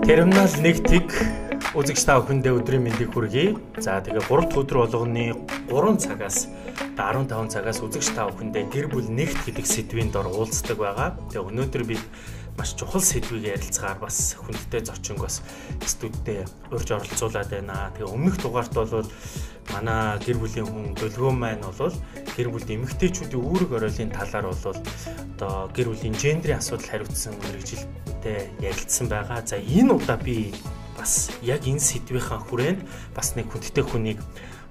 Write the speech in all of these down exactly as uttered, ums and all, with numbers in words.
Terminal нэг тэг үзэгч та бүхэндээ өдрийн мэндийг хүргэе. За тэгээ гурав дахь өдөр болгоны гурван цагаас арван таван цагаас үзэгч та бүхэндээ гэр бүл нэгт гэдэг сэдвийн дор уулздаг байгаа. Тэгээ өнөөдөр бид маш чухал сэдвийг ярилцгаар бас хүндтэй зочин бас студидтэй урьж оролцуулаад байна. Тэгээ өмнөх дугаарт бол манай гэр бүлийн хүн Дөлгөө маань бол гэр бүлд эмэгтэйчүүдийн үүрэг оройлын талаар бол одоо гэр бүлийн гендрийн асуудал хариуцсан мэргэжилттэй ярилцсан байгаа. За энэ удаа би бас яг энэ сэдвийнхаа хүрээнд бас нэг хүндтэй хүнийг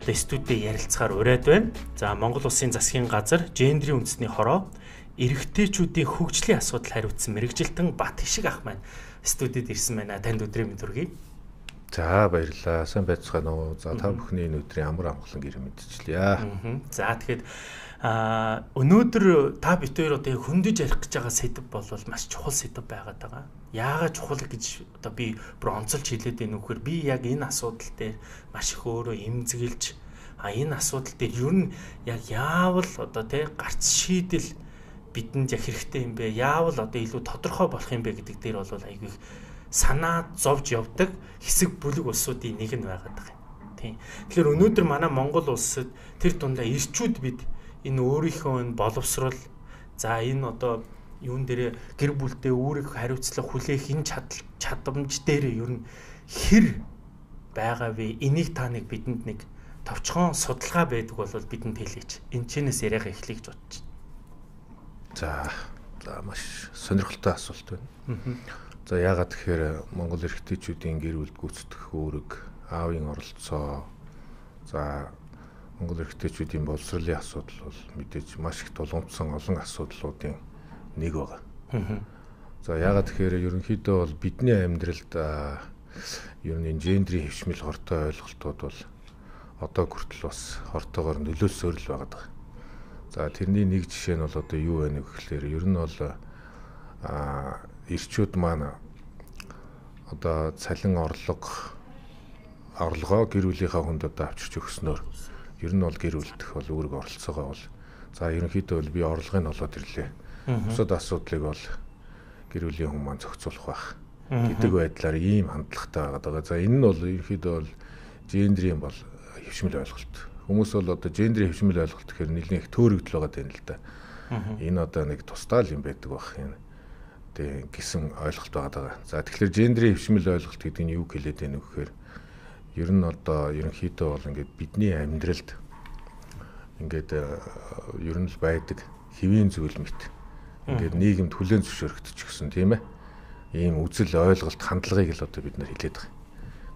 одоо студидтэй ярилцахаар ураад байна. За Монгол Улсын засгийн газар гендрийн үндэсний хороо эрэгтэйчүүдийн хөгжлийн асуудал хариуцсан мэргэжилтэн Бат Хишиг ах маань студид ирсэн байна. Танд өдрийн мэнд хүргэе. За баярлалаа. Сайн байцгаана уу? За та бүхний энэ өдрийн амар амгалан гэр мэдчихлээ. За тэгэхэд а өнөөдөр та бид хоёр одоо хөндөж ярих гэж байгаа сэдв бол маш чухал сэдв байгаад байгаа. Яагаад чухал гэж одоо би бүр онцолж хэлээд байна вөхөр би яг энэ асуудал дээр маш их өөрөө эмзэглэж а энэ асуудал дээр ер нь яг яавал одоо тий гарц шийдэл бидэнд яг хэрэгтэй юм бэ? Яавал одоо илүү тодорхой болох юм бэ гэдэг дээр бол айгүй санаа зовж явдаг хэсэг бүлэг улсуудын нэг нь байгаад байгаа юм. Тийм. Тэгэхээр өнөөдөр манай Монгол улсад тэр дундаа ирчүүд бид энэ өөрийнхөө боловсрол за энэ одоо юун дээр гэр бүлдээ үүрэг хариуцлага хүлээх энэ чадамж дээр ер нь хэр байгаа вэ? Энийг та нэг бидэнд нэг товчхон судалгаа байдаг бол бидэнд хэлээч. Энэ чинээс яриага эхлэе гэж бодож байна. За, за маш сонирхолтой асуулт байна. За яагаад тэгэхээр Монгол эрэгтэйчүүдийн гэр бүлд гүйцэтгэх үүрэг, аавын оролцоо, за Монгол эрэгтэйчүүдийн боловсролын асуудал бол мэдээж маш их тулгымдсан олон асуудлуудын нэг байгаа. За яагаад тэгэхээр ерөнхийдөө бол бидний амьдралд ер нь гендрийн хэвшмэл хортой ойлголтууд бол одоо хүртэл бас хортойгоор нөлөөлсөөр л байгаа. За тэрний нэг жишээ нь бол одоо юу вэ гэхээр ер нь бол а ирчүүд маань одоо цалин орлого орлогоо гэр бүлийнхаа хүнд одоо авчирч өгснөөр ер нь бол гэр бүлдэх бол үүрэг оролцоогоо бол за ерөнхийдөө бол би орлогыг олоод ирлээ. Бусад асуудлыг бол гэр бүлийн хүн маань зохицуулах байх гэдэг байдлаар ийм хандлагатай байгаа. За энэ нь бол ерөнхийдөө бол гендрийн бол хэвшмэл ойлголт. Хүмүүс бол одоо гендрийн хэвшмэл ойлголт гэхээр нэлээд их төөрөгдөл байгаа юм л да. Энэ одоо нэг тусдаа л юм байдаг бах юм. Тэг гисэн ойлголт байгаа. За тэгэхээр гендрийн хэвшмэл ойлголт гэдэг нь юу хэлээд байна вэ гэхээр ер нь одоо ерөнхийдөө бол ингээд бидний амьдралд ингээд ер нь л байдаг хэвийн зүйл мэт. Ингээд нийгэмд хүлээн зөвшөөрөгдөж гисэн тийм ээ. Ийм үзэл ойлголт хандлагыг л одоо бид нар хэлээд байгаа.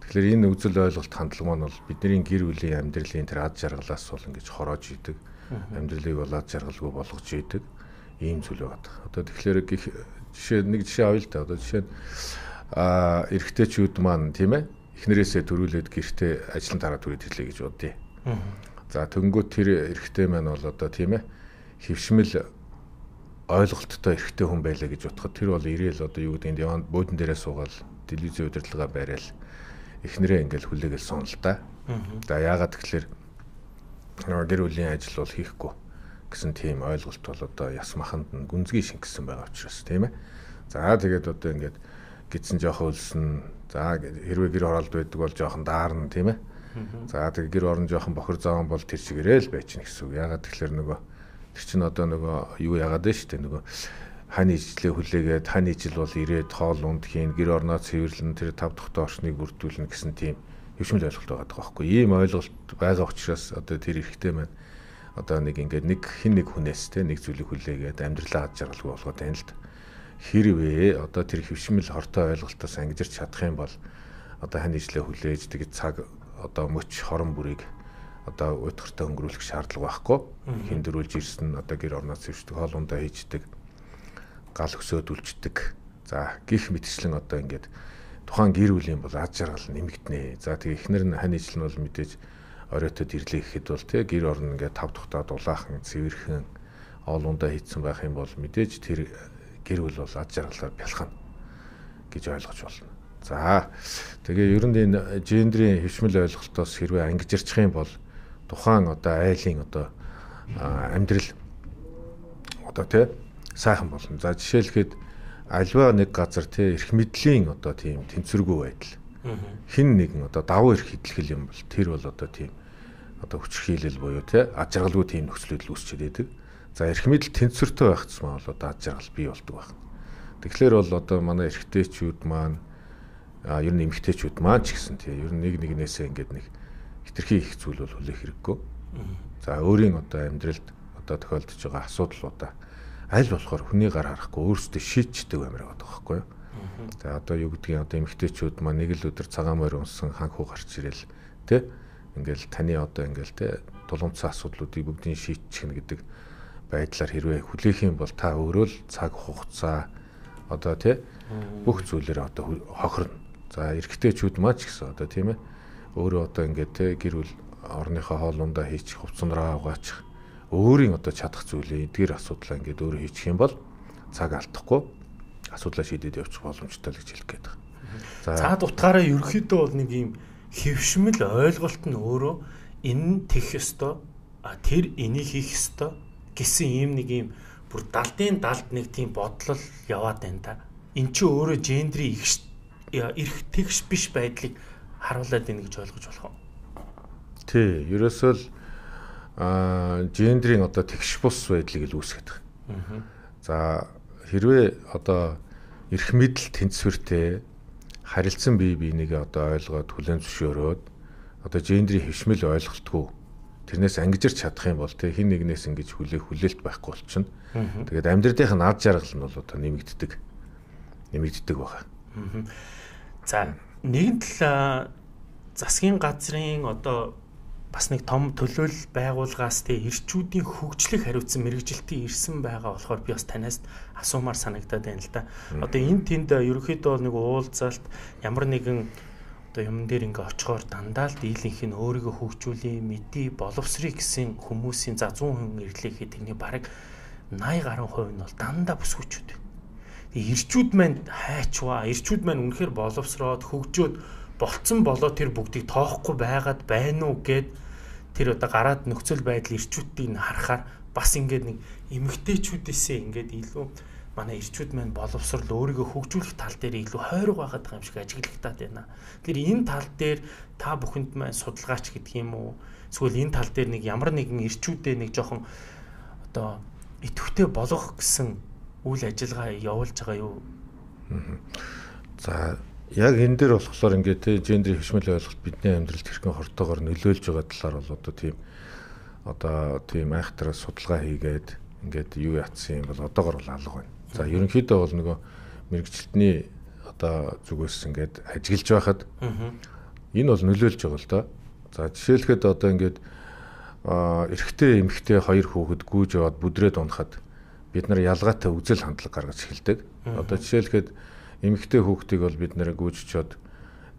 Тэгэхээр энэ үзэл ойлголт хандлага маань бол бидний гэр бүлийн амьдралын тэр ад жаргалаас бол ингэж хороож идэг. Амьдралыг бол ад жаргалгүй болгож идэг. Ийм зүйл байна. Одоо тэгэхээр жишээ нэг жишээ авъя л да. Одоо жишээ нь а эрэгтэйчүүд маань тийм ээ эхнэрээсээ төрүүлээд гэртээ ажлын дараа түрээд ирлээ гэж бодъё. За төнгөө тэр эрэгтэй маань бол одоо тийм ээ хөвшмөл ойлголттой эрэгтэй хүн байлаа гэж бодоход тэр бол ирээл одоо юу гэдэг нь яванд буудан дээрээ суугаад телевизийн удирдлага барайл эхнэрээ ингээл хүлээгээл суун л да. За яагаад тэгэхээр гэр бүлийн ажил бол хийхгүй гэсэн тийм ойлголт бол одоо яс маханд нь гүнзгий шингэсэн байгаа учраас тийм ээ. За тэгээд одоо ингээд гидсэн жоохон өлсөн. За хэрвээ гэр оролт байдаг бол жоохон даарна тийм ээ. За тэгээд гэр орон жоохон бохир заван бол тэр чигээрээ л байчихна гэсэн үг. Яагаад тэгэхээр нөгөө тэр чинь одоо нөгөө юу яагаад вэ штэ нөгөө хань ижлээ хүлээгээд хань ижил бол ирээд хоол унд хийн гэр орноо цэвэрлэн тэр тав дахь орчныг бүрдүүлнэ гэсэн тийм хөвшмөл ойлголт байгаа байхгүй. Ийм ойлголт байгаа учраас одоо тэр эрэгтэй маань одоо нэг ингээд нэг хин нэг хүнээс те нэг зүйлийг хүлээгээд амьдралаа ад жаргалгүй болгоод байна л да. Хэрвээ одоо тэр хөвшмөл хортой ойлголтоос ангижирч чадах юм бол одоо хань ижлээ хүлээж тэгээд цаг одоо мөч хорон бүрийг одоо уйтгартай өнгөрүүлэх шаардлага байхгүй. Хин дөрүүлж ирсэн одоо гэр орноо цэвэрчдэг, хоол ундаа хийждэг, гал өсөөд үлждэг. За гих мэтчлэн одоо ингээд тухайн гэр бүлийн бол ад жаргал нэмэгдэнэ. За тэгээ эхнэр нь хань ижил нь бол мэдээж оройтод ирлээ гэхэд бол тий гэр орно ингээд тав тухтаа дулаахан цэвэрхэн хоол ундаа хийцэн байх юм бол мэдээж тэр гэр бүл бол ад жаргалаар бялхана гэж ойлгож болно. За тэгээ ер нь энэ гендрийн хэвшмэл ойлголтоос хэрвээ ангижирчих юм бол тухайн одоо айлын одоо амьдрал одоо тий сайхан болно. За жишээлхэд альва нэг газар тий эрх мэдлийн одоо тийм тэнцвэргүй байдал. Хин нэгэн одоо давуу эрх идэлхэл юм бол тэр бол одоо тийм одоо хүчрхийлэл буюу тий аж аргалгүй тийм нөхцөлөд үүсчихэд байдаг. За эрх мэдэл тэнцвэртэй байх тусмаа бол одоо аж аргал бий болдог байна. Тэгэхээр бол одоо манай эрэгтэйчүүд маань а ер нь эмэгтэйчүүд маань ч гэсэн тий ер нь нэг нэгнээсээ ингээд нэг хитрхи их зүйл бол хүлээх хэрэггүй. За өөрийн одоо амьдралд одоо тохиолдож байгаа асуудлуудаа аль болохоор хүний гар харахгүй өөрсдөө шийдчихдэг баймир байгаа байхгүй юу. За одоо юу гэдгийг одоо эмэгтэйчүүд маань нэг л өдөр цагаан морь унсан ханхуу гарч ирэл тий ингээл таны одоо ингээл тий тулгымцсан асуудлуудыг бүгдийг шийдчихнэ гэдэг байдлаар хэрвээ хүлээх юм бол та өөрөө л цаг хугацаа одоо тий бүх зүйлээр одоо хохирно. За эрэгтэйчүүд маань ч гэсэн одоо тийм ээ өөрөө одоо ингээд тий гэр бүл орныхоо хоолундаа хийчих хувцсанраа угаачих өөрийн одоо чадах зүйлээ эдгээр асуудлаа ингээд өөрөө хийчих юм бол цаг алдахгүй асуудлаа шийдээд явчих боломжтой л гэж хэлэх гээд байна. За цаад утгаараа ерөөхдөө бол нэг юм хэвшмэл ойлголт нь өөрөө энэ тех ёстой а тэр энийг хийх ёстой гэсэн ийм нэг юм бүр далдын далд нэг тийм бодлол яваад байна та. Эн чинь өөрөө гендрийн эрх тэгш биш байдлыг харуулад байна гэж ойлгож болох уу? Тий, ерөөсөө л а гендрийн одоо тэгш бус байдлыг л үүсгэж байгаа. За хэрвээ одоо эрх мэдэл тэнцвэртэй харилцсан бие биенийг одоо ойлгоод хүлээн зөвшөөрөөд одоо гендрийн хэвшмэл ойлголтгүй тэрнээс ангижирч чадах юм бол тэ хин нэгнээс ингэж хүлээх хүлээлт байхгүй болчихно. Тэгээд амьдралынх нь ад жаргал нь бол одоо нэмэгддэг. Нэмэгддэг байгаа. За нэгэн тал засгийн газрын одоо бас нэг том төлөөлөл байгууллагаас тэ эрчүүдийн хөгжлийг хариуцсан мэрэгжилтийн ирсэн байгаа болохоор би бас танаас асуумаар санагдаад байна л да. Одоо энэ тэнд ерөөхдөө нэг уулзалт ямар нэгэн одоо юм дээр ингээ очихоор дандаа л дийлэнх нь өөрийгөө хөгжүүлээ мэдээ боловсрыг гэсэн хүмүүсийн за зуун хүн ирлээхэд тэрний бараг восемьдесят гаруй хувь нь бол дандаа бүсгүүчүүд. Тэгээ ирчүүд маань хайчваа, ирчүүд маань үнэхээр боловсроод хөгжөөд болцсон болоо тэр бүгдийг тоохгүй байгаад байна уу гэд тэр одоо гараад нөхцөл байдал ирчүүдийг харахаар бас ингээд нэг эмэгтэйчүүдээсээ ингээд илүү манай ирчүүд маань боловсрол өөрийгөө хөгжүүлэх тал дээр илүү хойрог байгаад байгаа юм шиг ажиглагтаад байна. Тэр энэ тал дээр та бүхэнд маань судалгаач гэдэг юм уу? Эсвэл энэ тал дээр нэг ямар нэгэн ирчүүдээ нэг жоохон одоо идэвхтэй болгох гэсэн үйл ажиллагаа явуулж байгаа юу? За яг энэ дээр болохоор ингээд те гендрийн хэвшмэл ойлголт бидний амьдралд хэрхэн хортоогоор нөлөөлж байгаа талаар бол одоо тийм одоо тийм айхтараа судалгаа хийгээд ингээд юу яатсан юм бол одоогор бол алга байна. За ерөнхийдөө бол нөгөө мэрэгчлэлтний одоо зүгээс ингээд ажиглаж байхад энэ бол нөлөөлж байгаа л доо. За жишээлхэд одоо ингээд эрэгтэй эмэгтэй хоёр хүүхэд гүйж яваад бүдрээд унахад бид нар ялгаатай үзэл хандлага гаргаж эхэлдэг. Одоо жишээлхэд эмэгтэй хүүхдийг бол бид нэр гүйжчихэд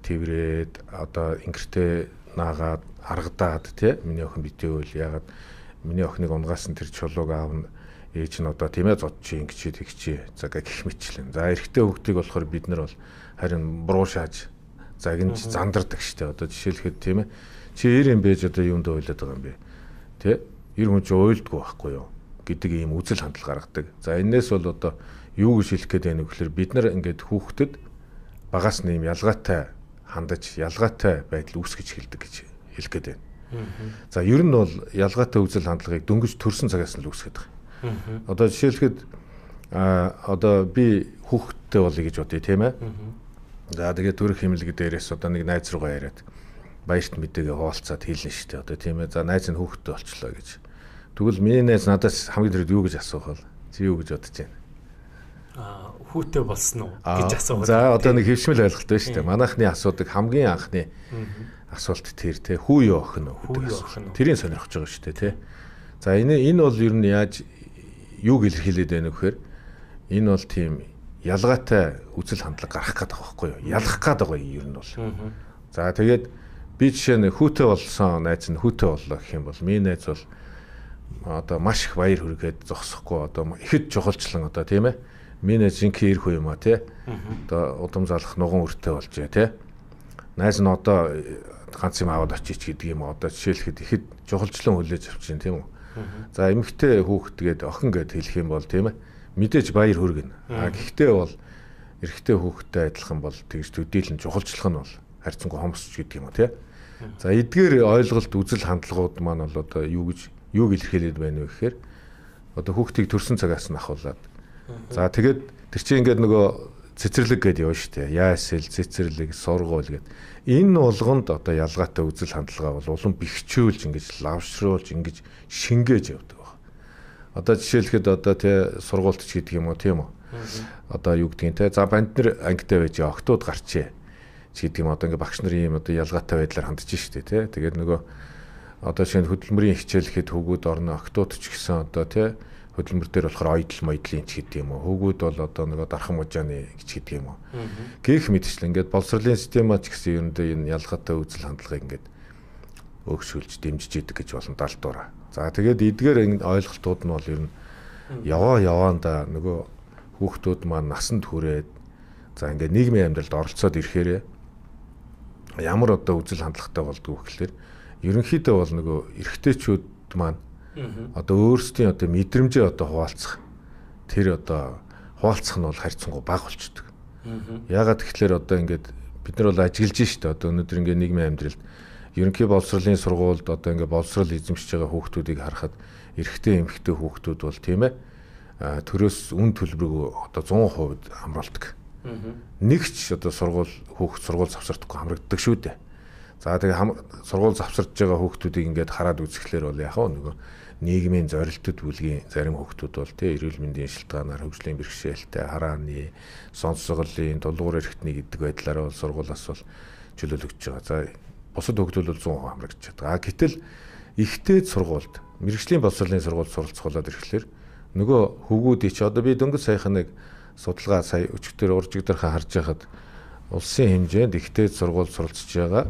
тэрврээд одоо ингэртэй наагаад аргадаад тий миний охин битээвэл ягаад миний охиныг унгаас нь тэр чулууг аавна ээж нь одоо тийм ээ зодчих ингэчээ тэгчээ за гэх мэтлэн. За эрэгтэй хүүхдийг болохоор бид нар бол харин буруу шааж загинж зандардаг штэ. Одоо жишээлхэд тийм ээ чи эр юм бэж одоо юунд ойлоод байгаа юм бэ? Тий эр хүн чи уйлдгүй байхгүй юу гэдэг ийм үзэл хандлага гаргадаг. За энэс бол одоо юу гэж хэлэх гээд байна вэ гэхээр бид нар ингээд хүүхдэд багаас нь ийм ялгаатай хандаж ялгаатай байдал үүсгэж хэлдэг гэж хэлэх гээд байна. За ер нь бол ялгаатай үзэл хандлагыг дөнгөж төрсэн цагаас нь л үүсгэж байгаа. Одоо жишээлхэд а одоо би хүүхдтэй болъё гэж бодъё тийм ээ. За тэгээд төрөх хэмнэлэг дээрээс одоо нэг найз руугаа яриад баярт мэдээгээ хуваалцаад хэлнэ шүү дээ. Одоо тийм ээ. За найз нь хүүхдтэй болчлоо гэж. Тэгвэл миний найз надаас хамгийн түрүүд юу гэж асуух вэ? Чи юу гэж бодож байна? Аа хүүтэй болсон уу гэж асуух. За одоо нэг хэвшмэл ойлголт байна шүү дээ. Манайхны асуудаг хамгийн анхны асуулт тэр те хүү юу охин уу гэдэг. Тэрийг сонирхож байгаа шүү дээ те. За энэ энэ бол ер нь яаж юуг илэрхийлээд байна вэ гэхээр энэ бол тийм ялгаатай үзэл хандлага гарах гэдэг байгаа байхгүй юу? Ялах гэдэг байгаа юм ер нь бол. За тэгээд би жишээ нь хүүтэй болсон найз нь хүүтэй боллоо гэх юм бол миний найз бол одоо маш их баяр хүргээд зогсохгүй одоо ихэд жохолчлон одоо тийм ээ. Миний найз жинхэнэ ирэх үе юм а тий. Одоо удам залах нуган өртөө болж байна тий. Найз нь одоо ганц юм аваад очиж гэдэг юм одоо жишээлхэд ихэд жохолчлон хүлээж авчихин тийм үү. За эмэгтэй хүүхэд гээд охин гээд хэлэх юм бол тийм ээ. мэдээж баяр хүргэнэ. А гэхдээ бол эрэгтэй хүүхэдтэй адилхан бол тэгж төдийлэн чухалчлах нь бол харьцангуй хомсч гэдэг юм уу тий. За эдгээр ойлголт үзэл хандлагууд маань бол одоо юу гэж юуг илэрхийлээд байна вэ гэхээр одоо хүүхдийг төрсэн цагаас нь ахуулаад за тэгээд тэр чинь ингээд нөгөө цэцэрлэг гэдэг явна шүү дээ. Яасэл, цэцэрлэг, сургууль гэдэг. Энэ болгонд одоо ялгаатай үзэл хандлагаа бол улам бэхжүүлж ингэж лавшруулж ингэж шингээж явдаг байна. Одоо жишээлхэд одоо тий сургуульч гэдэг юм уу тийм үү? Одоо юу гэдгийг те за банд нар ангитай байж октод гарчээ гэдэг юм одоо ингээ багш нарын юм одоо ялгаатай байдлаар хандж штэ те тэгээд нөгөө одоо шинэ хөдөлмөрийн хичээлэхэд хүүгүүд орно октод ч гэсэн одоо те хөдөлмөр дээр болохоор ойдл мойдлын ч гэдэг юм уу хүүгүүд бол одоо нөгөө дархан мужааны гэж гэдэг юм уу гэх мэтчлэн ингээд боловсролын система ч гэсэн ерөндөө энэ ялгаатай үзэл хандлагыг ингээд өгшүүлж дэмжиж идэг гэж болно далдуураа за тэгээд эдгээр энэ ойлголтууд нь бол ер нь яваа яваанда нөгөө хүүхдүүд маань насанд хүрээд за ингээд нийгмийн амьдралд оролцоод ирэхээр ямар одоо үзэл хандлагатай болдгоо гэхэлэр ерөнхийдөө бол нөгөө эрэгтэйчүүд маань одоо өөрсдийн одоо мэдрэмжээ одоо хуваалцах тэр одоо хуваалцах нь бол харьцангуй бага болчдөг. Яагаад тэгэхээр одоо ингээд бид нар бол ажиглаж штэ одоо өнөөдөр ингээд нийгмийн амьдралд ерөнхий боловсролын сургуульд одоо ингээд боловсрол эзэмшиж байгаа хүүхдүүдийг харахад эрэгтэй эмэгтэй хүүхдүүд бол тийм ээ төрөөс үн төлбөрөг одоо зуун хувьд хамруулдаг. Нэг ч одоо сургууль хүүхд сургууль завсардаггүй хамрагддаг шүү дээ. За тэгээ сургууль завсарж байгаа хүүхдүүдийг ингээд хараад үзэхлээр бол яг нөгөө нийгмийн зорилтод бүлгийн зарим хүүхдүүд бол тий эрүүл мэндийн шилтгаанаар хөгжлийн бэрхшээлтэй харааны сонсголын тулгуур эрхтний гэдэг байдлаараа бол сургуулиас бол чөлөөлөгдөж байгаа. За бусад хүүхдүүд бол зуун хувь хамрагдаж байгаа. А гэтэл ихтэй сургуульд мэрэгжлийн боловсролын сургуульд суралцуулаад ирэхлээр нөгөө хөвгүүдий чи одоо би дөнгөж саяхан нэг судалгаа сая өчигдөр уржигдэрхэ харж байхад улсын хэмжээнд ихтэй сургууль суралцж байгаа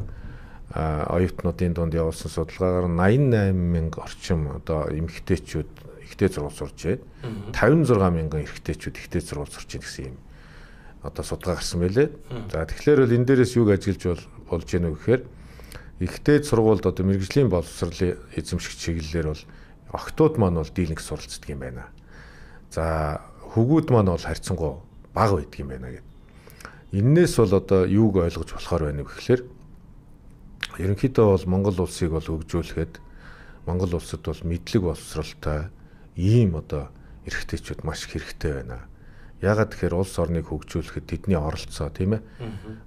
оюутнуудын дунд явуулсан судалгаагаар найман найман мянга орчим одоо эмэгтэйчүүд ихтэй сургууль сурж байна. тавин зургаан мянган эрэгтэйчүүд ихтэй сургууль сурч байна гэсэн юм одоо судалгаа гарсан байлээ. За тэгэхээр бол энэ дээрээс юуг ажиглаж болж гэнэ вэ гэхээр ихтэй сургуульд одоо мэрэгжлийн боловсролын эзэмшигч чиглэлээр бол октод маань бол дийлэнх суралцдаг юм байна. За хөвгүүд маань бол харьцангуй бага байдаг юм байна гэдэг. Иннээс бол одоо юуг ойлгож болохоор байна вэ гэхээр ерөнхийдөө бол Монгол улсыг бол хөгжүүлэхэд Монгол улсад бол мэдлэг боловсролтой ийм одоо эрхтэйчүүд маш хэрэгтэй байна. Яагаад тэгэхээр улс орныг хөгжүүлэхэд тэдний оролцоо тийм ээ.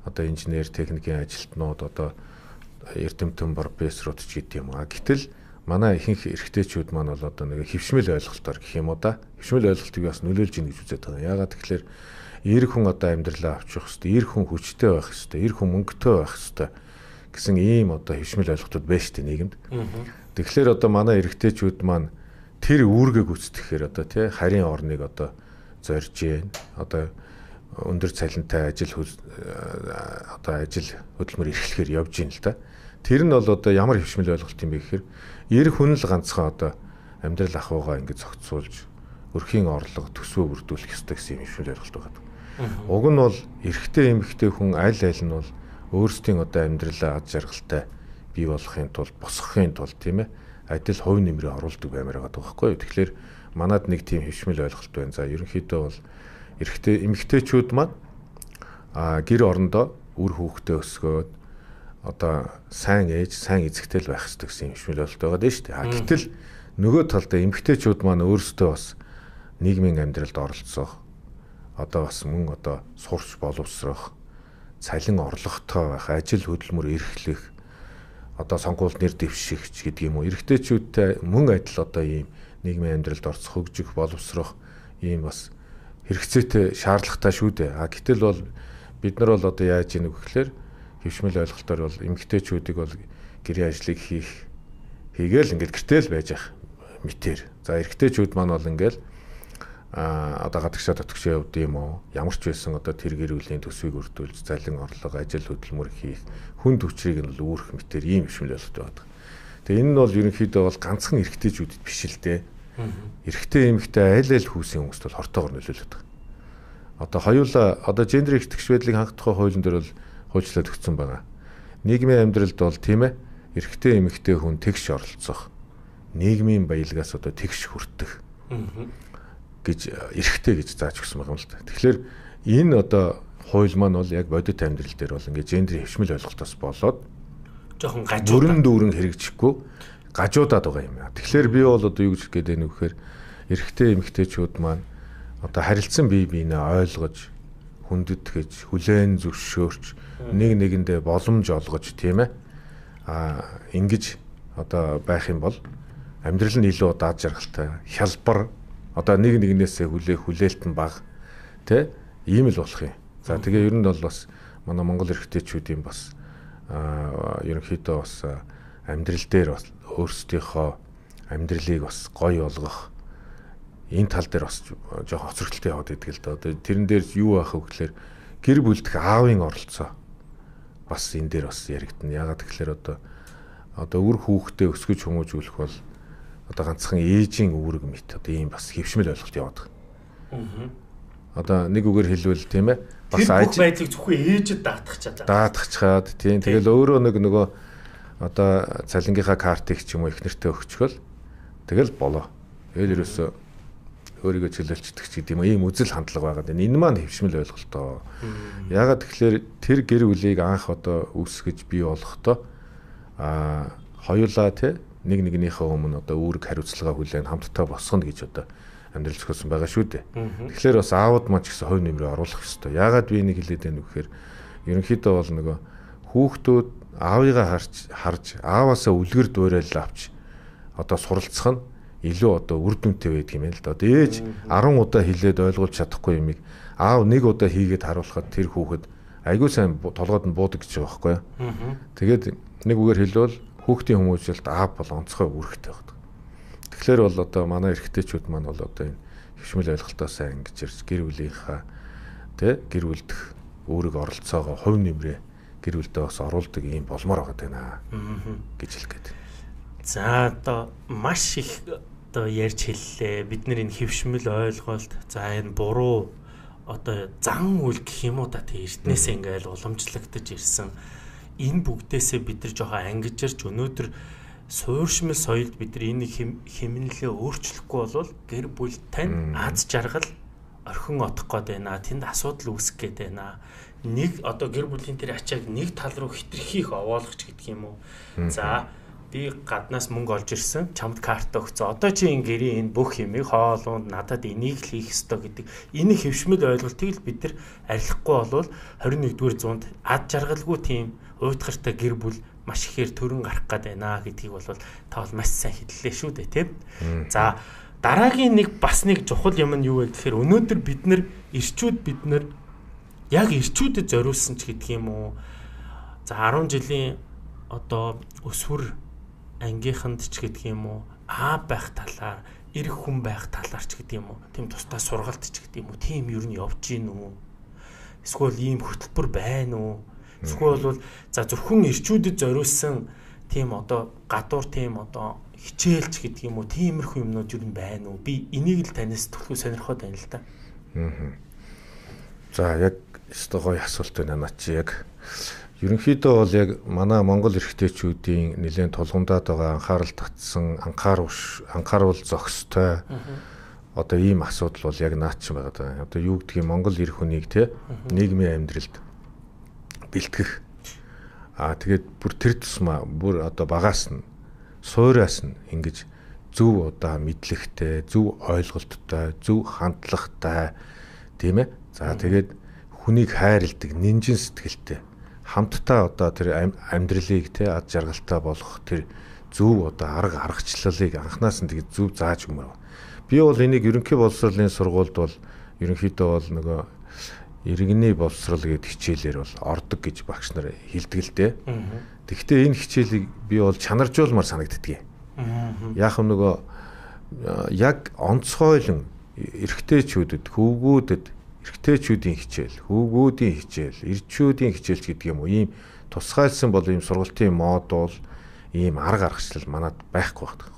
Одоо инженер, техникийн ажилтнууд одоо эрдэмтэн профессорууд ч гэдэг юм аа. Гэтэл манай ихэнх эрхтэйчүүд маань бол одоо нэг хөвшмөл ойлголтоор гэх юм уу да. Хөвшмөл ойлголтыг бас нөлөөлж ийн гэж үздэг байгаа. Яагаад тэгэхээр эр хүн одоо амьдралаа авчих хэвээр, эр хүн хүчтэй байх хэвээр, эр хүн мөнгөтэй байх хэвээр гэсэн ийм одоо хөвшмөл ойлголтууд байна шүү дээ нийгэмд. Тэгэхээр одоо манай эрхтэйчүүд маань тэр үүргээ гүйцэтгэхээр одоо тий харийн орныг одоо зорж гин одоо өндөр цалинтай ажил одоо ажил хөдөлмөр эрхлэхээр явж гин л да. Тэр нь бол одоо ямар хөвшмөл ойлголт юм бэ гэхээр эр хүн л ганцхан одоо амьдрал ахуйгаа ингэж зохицуулж өрхийн орлого төсвөө бүрдүүлэх ёстой гэсэн юм хөвшмөл ойлголт байгаа. Уг нь бол эрэгтэй эмэгтэй хүн аль аль нь бол өөрсдийн одоо амьдралаа аз жаргалтай бий болгохын тулд босгохын тулд тийм ээ адил хувь нэмрээ оруулдаг баймаар байгаа байхгүй юу. Тэгэхээр манад нэг тийм хөвшмөл ойлголт байна. За ерөнхийдөө бол эрэгтэй эмэгтэйчүүд маань а гэр орондоо үр хүүхдээ өсгөөд одоо сайн ээж, сайн эзэгтэй л байх хэрэгтэй гэсэн хөвшмөл ойлголт байгаа дээ шүү дээ. А гэтэл нөгөө талдаа эмэгтэйчүүд маань өөрсдөө бас нийгмийн амьдралд оролцох одоо бас мөн одоо сурч боловсрох цалин орлоготой байх, ажил хөдөлмөр эрхлэх, одоо сонгуульд нэр дэвшигч гэдэг юм уу. Эрэгтэйчүүдтэй мөн адил одоо ийм нийгмийн амьдралд орцох, хөгжих, боловсрох ийм бас хэрэгцээтэй, шаардлагатай шүү дээ. А гэтэл бол бид нар бол одоо яаж ийнэ гэхээр хөвшмөл ойлголтоор бол эмэгтэйчүүдийг бол гэрийн ажлыг хийх хийгээл ингээд гэртэл байж ах мэтэр. За эрэгтэйчүүд маань бол ингээд а одоо гадагшаа татгшаа явд юм уу ямар ч байсан одоо тэр гэр бүлийн төсвийг өрдүүлж залин орлого ажил хөдөлмөр хийх хүнд хүчрийг нь л үүрэх мэтэр ийм хөвшмөл ойлголт байдаг. Тэгээ энэ нь бол ерөнхийдөө бол ганцхан эрэгтэйчүүдэд биш л дээ. Эрэгтэй эмэгтэй аль аль хүүсийн хүмүүст бол хортоогоор нөлөөлөд байгаа. Одоо хоёулаа одоо гендер эрхтгч байдлыг хангах тухай хуулийн дээр бол хуульчлаад өгсөн байгаа. Нийгмийн амьдралд бол тийм ээ эрэгтэй эмэгтэй хүн тэгш оролцох, нийгмийн баялгаас одоо тэгш хүртэх. гэж эрэхтэй гэж зааж өгсөн байгаа юм л да. Тэгэхээр энэ одоо хууль маань бол яг бодит амьдрал дээр бол ингээд гендерийн хөвшмөл ойлголтоос болоод жоохон гажуудаад бүрэн дүүрэн хэрэгжихгүй гажуудаад байгаа юм. Тэгэхээр би бол одоо юу гэж гээд байна вэ гэхээр эрэхтэй эмэгтэйчүүд маань одоо харилцан бие биенээ ойлгож хүндэтгэж хүлээн зөвшөөрч нэг нэгэндээ боломж олгож тийм ээ а ингэж одоо байх юм бол амьдрал нь илүү даад жаргалтай хялбар одоо нэг нэгнээсээ хүлээх хүлээлт нь бага тий ийм л болох юм. За тэгээ ер нь бол бас манай монгол эрэгтэйчүүдийн бас ерөнхийдөө бас амьдрал дээр бас өөрсдийнхөө амьдралыг бас гоё болгох энэ тал дээр бас жоохон хоцрогдолтой яваад идэг л да. Одоо тэрэн дээр юу байх вэ гэхээр гэр бүлдэх аавын оролцоо бас энэ дээр бас яригдана. Ягаад гэхээр одоо одоо үр хүүхдээ өсгөж хүмүүжүүлэх бол одоо ганцхан ээжийн үүрэг мэт одоо ийм бас хөвшмөл ойлголт яваад байгаа. Аа. Одоо нэг үгээр хэлбэл тийм ээ бас аж байдлыг зөвхөн ээжэд даатгах чадаа. Даатгах чаад тийм тэгэл өөрөө нэг нөгөө одоо цалингийнхаа картыг ч юм уу их нэртээ өгчгөл тэгэл болоо. Тэгэл ерөөсөө өөрийгөө чөлөөлчдөг ч гэдэг юм ийм үзэл хандлага байгаад байна. Энэ маань хөвшмөл ойлголтоо. Ягаад тэгэхээр тэр гэр бүлийг анх одоо үүсгэж бий болгохдоо а хоёулаа те нэг нэгнийхээ өмнө одоо үүрэг хариуцлага хүлээн хамтдаа босгоно гэж одоо амьдрал зохиосон байгаа шүү дээ. Тэгэхээр бас аауд маань ч гэсэн хувь нэмрээ оруулах ёстой. Ягаад би энийг хэлээд байна вэ гэхээр ерөнхийдөө бол нөгөө хүүхдүүд аавыгаа харж харж ааваасаа үлгэр дуурайлал авч одоо суралцах нь илүү одоо үр дүнтэй байдаг юм л да. Одоо ээж арван удаа хэлээд ойлгуулж чадахгүй юмыг аав нэг удаа хийгээд харуулхад тэр хүүхэд айгүй сайн толгойд нь буудаг гэж байгаа байхгүй юу. Тэгээд нэг үгээр хэлбэл хүүхдийн хүмүүжлэлт аав бол онцгой үүрэгтэй байдаг. Тэгэхээр бол одоо манай эрэгтэйчүүд маань бол одоо энэ хөвшмөл ойлголтоо сайн ингэж ирж гэр бүлийнхаа тэ гэр бүлдэх үүрэг оролцоогоо хувь нэмрээ гэр бүлдээ бас оруулдаг юм болмоор байгаа даа гэж хэлэх гээд. За одоо маш их одоо ярьж хэллээ. Бид нар энэ хөвшмөл ойлголт за энэ буруу одоо зан үйл гэх юм уу та тэ эрднээс ингээл уламжлагдаж ирсэн. Энэ бүгдээсээ бид нар жоохон ангижирч өнөөдөр суурьшмал соёлд бид нар энийг хэмнэлээ өөрчлөхгүй бол гэр бүл тань аз жаргал орхин одох гээд байна. Тэнд асуудал үүсэх гээд байна. Нэг одоо гэр бүлийн тэр ачааг нэг тал руу хитрхийх овоолгоч гэдэг юм уу. За би гаднаас мөнгө олж ирсэн, чамд карт өгсөн. Одоо чи энэ гэрийн энэ бүх юмыг хоолунд надад энийг л хийх ёстой гэдэг. Энэ хөвшмөл ойлголтыг л бид нар арилахгүй болвол хорин нэгдүгээр зуунд ад жаргалгүй тийм уйтгартай гэр бүл маш ихээр төрөн гарах гээд байна гэдгийг бол та бол маш сайн хэллээ шүү дээ, тийм. За дараагийн нэг бас нэг чухал юм нь юу вэ гэхээр өнөөдөр бид нар ирчүүд бид нар яг ирчүүдэд зориулсан ч гэдэг юм уу. За арван жилийн одоо өсвөр ангийнханд ч гэдэг юм уу, аа байх талаар, эрх хүн байх талаар ч гэдэг юм уу, тийм тусдаа сургалт ч гэдэг юм уу, тийм юу нь явж гин үү? Эсвэл ийм хөтөлбөр байна уу? Эсвэл бол за зөвхөн ирчүүдэд зориулсан тийм одоо гадуур тийм одоо хичээлч гэдэг юм уу, тиймэрхүү юмнууд юу байна уу? Би энийг л танаас төлхөө сонирхоод байна л да. Аа. За яг өстой гоё асуулт байна наа чи яг. Ерөнхийдөө бол яг манай монгол эрэгтэйчүүдийн нэлээд тулгамдаад байгаа анхаарал татсан, анхааруул анхааруул зохистой одоо ийм асуудал бол яг наач байгаа даа. Одоо юу гэдгийг монгол эр хүнийг те нийгмийн амьдралд бэлтгэх. Аа тэгээд бүр тэр тусмаа бүр одоо багаас нь суураас нь ингэж зөв одоо мэдлэгтэй, зөв ойлголттой, зөв хандлагатай тийм ээ. За тэгээд хүнийг хайрладаг, нинжин сэтгэлтэй хамтдаа одоо тэр амьдралыг те ад жаргалтай болгох тэр зөв одоо арга аргачлалыг анханаас нь тэгээд зөв зааж өгмөр. Би бол энийг ерөнхий боловсролын сургуульд бол ерөнхийдөө бол нөгөө иргэний боловсрол гэдэг хичээлээр бол ордог гэж багш нар хэлдэг л дээ. Тэгэхдээ энэ хичээлийг би бол чанаржуулмаар санагддаг юм. Яг нөгөө яг онцгойлон эрэгтэйчүүдэд, хөвгүүдэд эрэгтэйчүүдийн хичээл, хөвгүүдийн хичээл, ирчүүдийн хичээлч гэдэг юм уу, ийм тусгайлсан бол ийм сургалтын модул, ийм арга аргачлал манад байхгүй байдаг.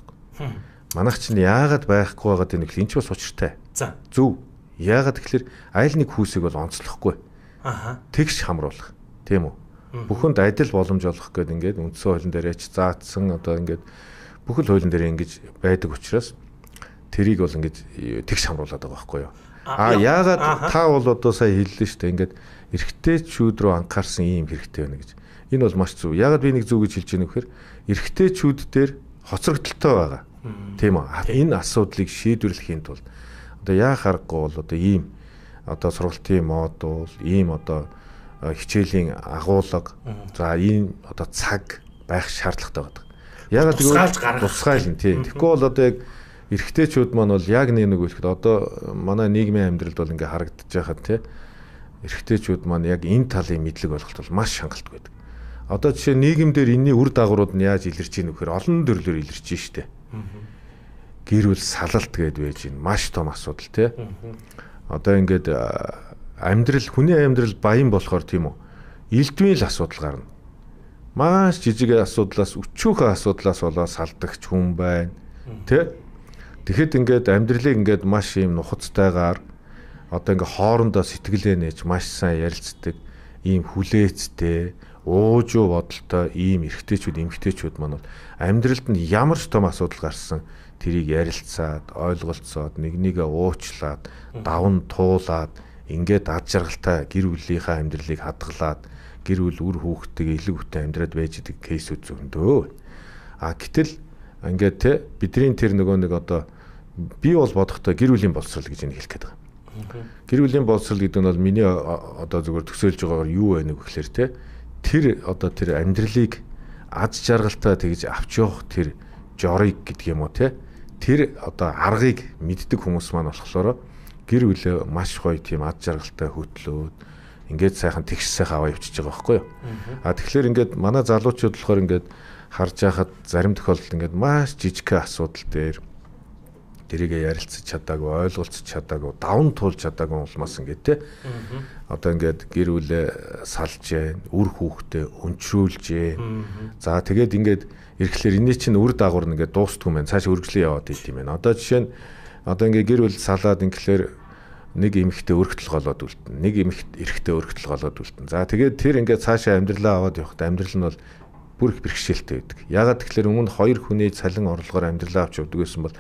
Манайх чинь яагаад байхгүй байгаад байна гэхэл энэ ч бас учиртай. За. Зөв. Яагаад гэхэлэр айл нэг хүүсийг бол онцлохгүй. Аха. Тэгш хамруулах. Тийм үү? Бүхэнд адил боломж олгох гэдэг ингээд үндсэн хуулийн дээр яч заатсан одоо ингээд бүхэл хуулийн дээр ингэж байдаг учраас тэрийг бол ингэж тэгш хамруулад байгаа байхгүй юу. А яагаад та бол одоо сая хэллээ шүү дээ. Ингээд эрэгтэйчүүд рүү анхаарсан ийм хэрэгтэй байна гэж. Энэ бол маш зөв. Яагаад би нэг зөв гэж хэлж байна вэ гэхээр эрэгтэйчүүд дээр хоцрогдолтой байгаа. Тийм үү? Энэ асуудлыг шийдвэрлэхийн тулд одоо яа харахгүй бол одоо ийм одоо сургалтын модул, ийм одоо хичээлийн агуулга, за ийм одоо цаг байх шаардлагатай байдаг. Яагаад гэвэл тусгайл нь тийм. Тэгэхгүй бол одоо яг эрэгтэйчүүд маань бол яг нэг нэг үлэхэд одоо манай нийгмийн амьдралд бол ингээ харагдаж байхад тийм эрэгтэйчүүд маань яг энэ талын мэдлэг олголт бол маш хангалттай байдаг. Одоо жишээ нийгэмдэр энэний үр дагаврууд нь яаж илэрч ийн вэхээр олон төрлөөр илэрч штэ. Гэр бүл салалт гээд байж ийн маш том асуудал тий. Одоо ингээд амьдрал хүний амьдрал баян болохоор тийм үү. Элдвийн л асуудал гарна. Маш жижиг асуудлаас өчүүхэн асуудлаас болоод салдагч хүн байна. Тий. Тэгэхэд ингээд амьдралыг ингээд маш юм нухацтайгаар одоо ингээд хоорондоо сэтгэлээ нээж маш сайн ярилцдаг ийм хүлээцтэй уужуу бодолтой ийм эрэгтэйчүүд эмэгтэйчүүд маань бол амьдралд нь ямар ч том асуудал гарсан тэрийг ярилцаад ойлголцоод нэг нэгэ уучлаад давн туулаад ингээд ад жаргалтай гэр бүлийнхаа амьдралыг хадгалаад гэр бүл үр хүүхдтэйгээ илүү хүнтэй амьдраад байж идэг кейсүүд зөндөө. А гэтэл ингээд те бидний тэр нөгөө нэг одоо би бол бодохдоо гэр бүлийн боловсрол гэж хэлэх гээд байгаа. Гэр бүлийн боловсрол гэдэг нь бол миний одоо зөвхөн төсөөлж байгаагаар юу байна вэ гэхээр те тэр одоо тэр амьдралыг ад жаргалтай тэгж авч явах тэр жорыг гэдэг юм уу те тэр одоо аргыг мэддэг хүмүүс маань болохоор гэр бүлээ маш гоё тийм ад жаргалтай хөтлөөд ингээд сайхан тэгш сайхан аваа явчихж байгаа байхгүй юу. А тэгэхээр ингээд манай залуучууд болохоор ингээд харж байхад зарим тохиолдолд ингээд маш жижиг асуудал дээр тэрийгэ ярилцаж чадаагүй, ойлголцож чадаагүй, давн туулж чадаагүй улмаас ингээд те. Одоо ингээд гэр бүлээ салж जैन, үр хүүхдээ өнчрүүлж जैन. За тэгээд ингээд ирэхлээр энэ чинь үр дагавар нэгээд дуустгүй мэн цааш үргэлжлэн яваад идэв юм байна. Одоо жишээ нь одоо ингээд гэр бүл салаад ингээхээр нэг эмэгтэй өргөтөл голоод үлдэн, нэг эмэгтэй эрэгтэй өргөтөл голоод үлдэн. За тэгээд тэр ингээд цаашаа амьдралаа аваад явахдаа амьдрал нь бол бүр их бэрхшээлтэй байдаг. Ягаад тэгэхээр өмнө хоёр хүний цалин орлогоор амьдралаа авч явдаг гэсэн бол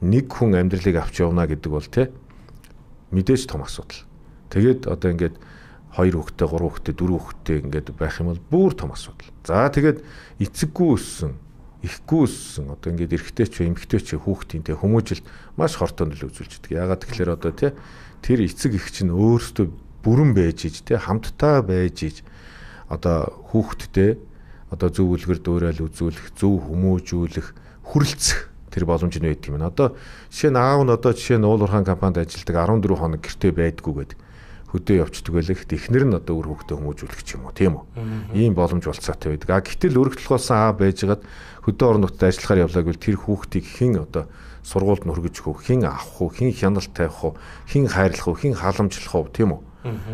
нэг хүн амьдралыг авч явна гэдэг бол тий мэдээж том асуудал. Тэгээд одоо ингээд хоёр хүүхэдтэй, гурван хүүхэдтэй, дөрвөн хүүхэдтэй ингээд байх юм бол бүр том асуудал. За тэгээд эцэггүй өссөн, ихгүй өссөн одоо ингээд эрэгтэй ч эмэгтэй ч хүүхдийн тий хүмүүжилт маш хортой нөлөө үзүүлж байдаг. Ягаад тэгэхээр одоо тий тэр эцэг эх чинь өөрсдөө бүрэн байж иж тий хамтдаа байж иж одоо хүүхдтэй одоо зөв үлгэр дуурайлал үзүүлэх, зөв хүмүүжүүлэх, хүрлцэх тэр боломж нь байдаг юм. Одоо жишээ нь аав нь одоо жишээ нь уул уурхайн компанид ажилладаг арван дөрвөн хоног гэртээ байдгүй гэдэг хөдөө явцдаг байлаа. Эхнэр нь одоо үр хүүхдээ хүмүүжүүлэх ч юм уу, тийм үү? Ийм боломж болцоотой байдаг. А гэтэл өргөдөл болсон аав байжгаад хөдөө орон нутгад ажиллахаар явлаа гэвэл тэр хүүхдийг хэн одоо сургуульд нь хүргэж өгөх, хэн авах уу, хэн хяналт тавих уу, хэн хайрлах уу, хэн халамжлах уу, тийм үү?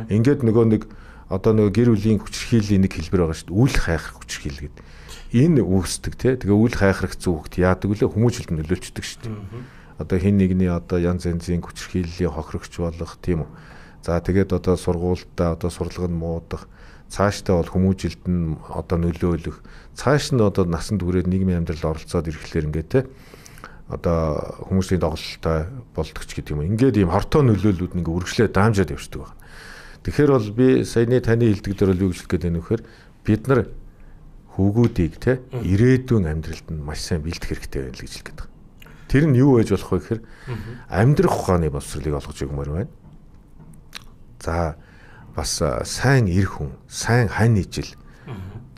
Ингээд нөгөө нэг одоо нөгөө гэр бүлийн хүчирхийллийн нэг хэлбэр байгаа шүү дээ. Үл хайхрах хүчирхийл гэдэг. Энэ үүсдэг тий. Тэгээ үл хайхрах зүгт яадаг вүлээ хүмүүжилт нь нөлөөлчдөг шүү дээ. Одоо хин нэгний одоо янз янзын хүчирхийллийн хохирогч болох тийм үү. За тэгээд одоо сургуультай одоо сурлага нь муудах, цаашдаа бол хүмүүжилт нь одоо нөлөөлөх, цааш нь одоо насанд хүрээд нийгмийн амьдралд оролцоод ирэхлээр ингээд тий. Одоо хүмүүсийн доголдолтой болдогч гэдэг юм. Ингээд ийм хортой нөлөөллүүд нэг үргэлжлээ даамжаад явждаг байна. Тэгэхээр бол би саяны таны хэлдэг дээр бол юу гэж хэлэх гээд байна вэ гэхээр бид нар хүүгүүдийг те ирээдүйн амьдралд нь маш сайн бэлдэх хэрэгтэй байна л гэж хэлэх гээд байна. Тэр нь юу байж болох вэ гэхээр амьдрах ухааны боловсролыг олгож өгмөр байна. За бас сайн эр хүн, сайн хань ижил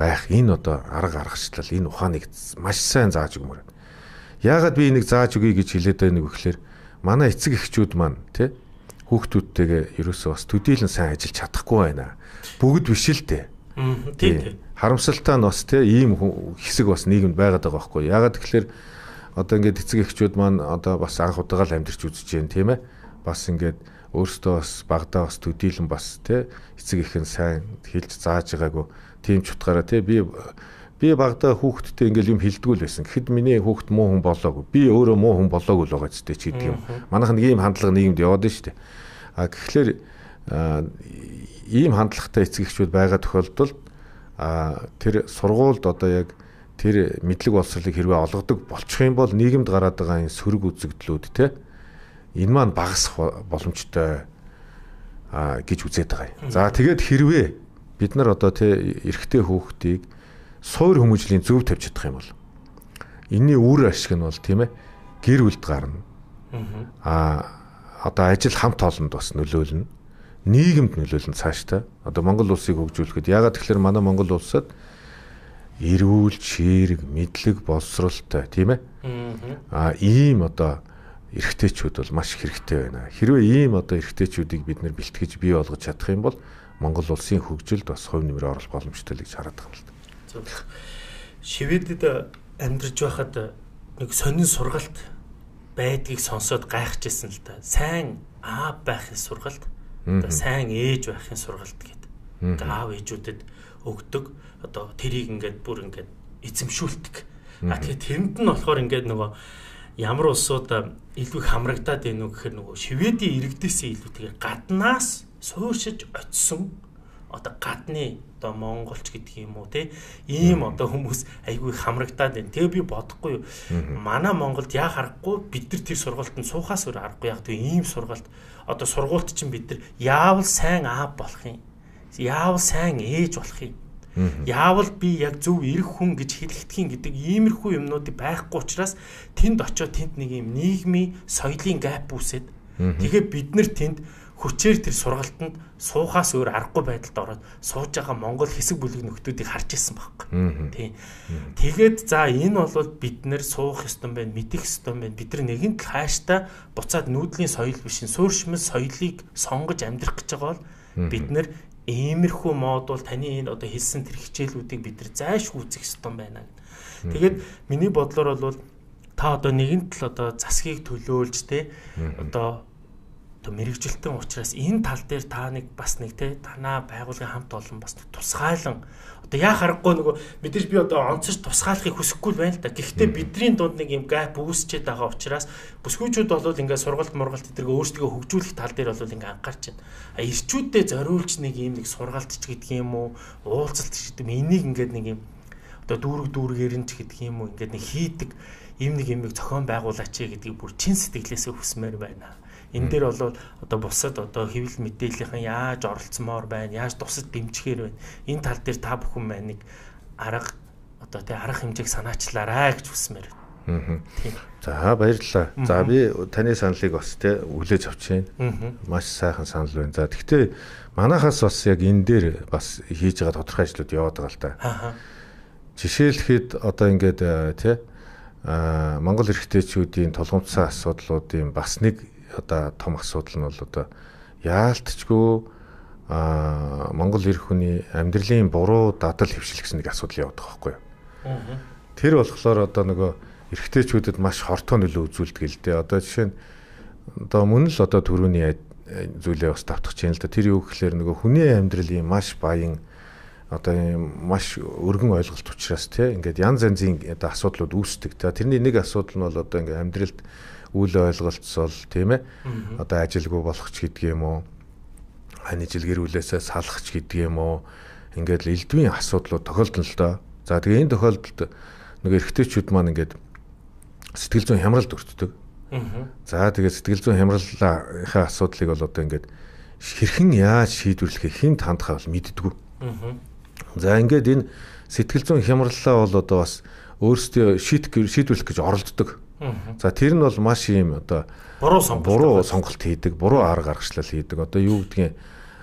байх энэ одоо арга аргачлал энэ ухааныг маш сайн зааж өгмөр байна. Яагаад би энийг зааж өгье гэж хэлээд байна вэ гэхээр манай эцэг эхчүүд маань те хүүхдүүдтэйгээ ерөөсөө бас төдийлөн сайн ажиллаж чадахгүй байна. Бүгд биш л дээ. Тийм. Харамсалтай нь бас тийм ийм хэсэг бас нийгэмд байгаад байгаа байхгүй. Ягаад тэгэхээр одоо ингээд эцэг эхчүүд маань одоо бас анх удаага л амьдарч үзэж जैन тийм ээ. Бас ингээд өөртөө бас багадаа бас төдийлөн бас тийм эцэг эхэн сайн хэлж зааж байгаагүй тийм ч утгаараа тийм би би багадаа хүүхдтэй ингээл юм хэлдэггүй л байсан. Гэхэд миний хүүхд муу хүн болоогүй. Би өөрөө муу хүн болоогүй л байгаа ч гэдэг юм. Манайх нэг ийм хандлага нийгэмд яваад байна шүү дээ. А тэгэхээр ийм хандлагатай эцэг эхчүүд байгаа тохиолдолд а тэр сургуульд одоо яг тэр мэдлэг боловсролыг хэрвээ олгодог болчих юм бол нийгэмд гараад байгаа энэ сөрөг үзэгдлүүд те энэ маань багасах боломжтой а гэж үзээд байгаа юм. За тэгээд хэрвээ бид нар одоо тий эрэгтэй хүүхдийг суур хүмүүжлийн зөв тавьж чадах юм бол энэний үр ашиг нь бол тийм ээ гэр бүлд гарна. Аа одоо ажил хамт олонд бас нөлөөлнө. Нийгэмд нөлөөлнө цаашдаа. Одоо Монгол улсыг хөгжүүлэхэд ягаад тэгэхээр манай Монгол улсад эрүүл, чирэг, мэдлэг, боловсролтой тийм ээ. Аа ийм одоо эрэгтэйчүүд бол маш хэрэгтэй байна. Хэрвээ ийм одоо эрэгтэйчүүдийг бид нэр бэлтгэж бий болгож чадах юм бол Монгол улсын хөгжилд бас хувь нэмрээ оруулах боломжтой л гэж хараад байгаа юм л да. Шведэд амьдарч байхад нэг сонин сургалт байдгийг сонсоод гайхажсэн л да. Сайн аав байхын сургалт, одоо сайн ээж байхын сургалт гэдэг. Аав ээжүүдэд өгдөг. Одоо тэрийг ингээд бүр ингээд эзэмшүүлдэг. А тэгэхээр тэрэнд нь болохоор ингээд нөгөө ямар улсууд илүү хамрагдаад байна уу гэхээр нөгөө Шведийн иргэдээсээ илүүтэйгээр гаднаас сууршиж очисон одоо гадны одоо монголч гэдэг юм уу те ийм одоо хүмүүс айгүй хамрагдаад байна. Тэгээ би бодохгүй юу. Манай Монголд яа харахгүй бид нар тэр сургалтанд суухаас өөр аргагүй яг тийм ийм сургалт одоо сургуулт чинь бид нар яавал сайн аав болох юм. Яавал сайн ээж болох юм. Яавал би яг зөв эрх хүн гэж хэлэхдгийн гэдэг иймэрхүү юмнуудыг байхгүй учраас тэнд очиод тэнд нэг юм нийгмийн соёлын гэп үүсээд тэгээ бид нар тэнд хүчээр тэр сургалтанд суухаас өөр аргагүй байдалд ороод сууж байгаа Монгол хэсэг бүлэг нөхдүүдийг харж ирсэн байхгүй. Тийм. Тэгээд за энэ бол бид нэр суух ёстой байна, мэдэх ёстой байна. Бид нар нэгэн тал хааштай буцаад нүүдлийн соёл биш, сууршмал соёлыг сонгож амьдрах гэж байгаа бол бид нар иймэрхүү мод бол таны энэ одоо хэлсэн тэр хичээлүүдийг бид нар зайлшгүй үзэх ёстой байна. Тэгээд миний бодлоор бол та одоо нэгэн тал одоо засгийг төлөөлж те одоо одоо мэрэгжилтэн учраас энэ тал дээр та нэг бас нэг те танаа байгууллагын хамт олон бас тусгайлан одоо яа харахгүй нөгөө мэдээж би одоо онцорч тусгаалахыг хүсэхгүй л байна л да. Гэхдээ бидний дунд нэг юм гэп үүсчихэд байгаа учраас бүсгүйчүүд бол ингээд сургалт мургалт эдэргээ өөрсдөө хөгжүүлэх тал дээр бол ингээд анхаарч байна. А ирчүүдэд зориулж нэг юм нэг сургалт ч гэдэг юм уу уулзалт ч гэдэг юм энийг ингээд нэг юм одоо дүүрэг дүүргээр нь ч гэдэг юм уу ингээд нэг хийдэг ийм нэг юм зохион байгуулаач гэдгийг бүр чин сэтгэлээсээ хүсмээр байна. Энэ дээр бол одоо бусад одоо хэвлэл мэдээллийн яаж оролцмоор байна, яаж тусад дэмжихээр байна. Энэ тал дээр та бүхэн маань нэг арга одоо тий арга хэмжээг санаачлаарай гэж хүсмээр байна. За баярлалаа. За би таны саналыг бас тий хүлээж авч байна. Маш сайхан санал байна. За гэхдээ манайхаас бас яг энэ дээр бас хийж байгаа тодорхой ажлууд яваад байгаа л да. Жишээлхэд одоо ингээд тий Монгол эрхтэйчүүдийн тулгымцсан асуудлуудын бас нэг одоо том асуудал нь бол одоо яалтчгүй а Монгол эрх хүний амьдралын буруу дадал хөвшил гэсэн нэг асуудал яваад байгаа байхгүй юу. Тэр болохоор одоо нөгөө эрхтэйчүүдэд маш хортой нөлөө үзүүлдэг л дээ. Одоо жишээ нь одоо мөн л одоо төрөүний зүйлээ бас давтах чинь л да. Тэр юу гэхээр нөгөө хүний амьдралын маш баян одоо маш өргөн ойлголт учраас тий ингээд янз янзын одоо асуудлууд үүсдэг. За тэрний нэг асуудал нь бол одоо ингээд амьдралд үйл ойлголцол тийм ээ одоо ажилгүй болох ч гэдэг юм уу хань ижил гэр бүлээсээ салах ч гэдэг юм уу ингээд л элдвийн асуудлууд тохиолдно л доо. За тэгээ энэ тохиолдолд нэг эрэгтэйчүүд маань ингээд сэтгэл зүйн хямралд өртдөг. За тэгээ сэтгэл зүйн хямралынхаа асуудлыг бол одоо ингээд хэрхэн яаж шийдвэрлэхээ хинт хандхаа бол мэддэггүй. За ингээд энэ сэтгэл зүйн хямраллаа бол одоо бас өөрсдөө шийдвэрлэх гэж оролддог. За тэр нь бол маш юм одоо буруу сонголт буруу сонголт хийдэг, буруу арга гаргачлал хийдэг. Одоо юу гэдгийг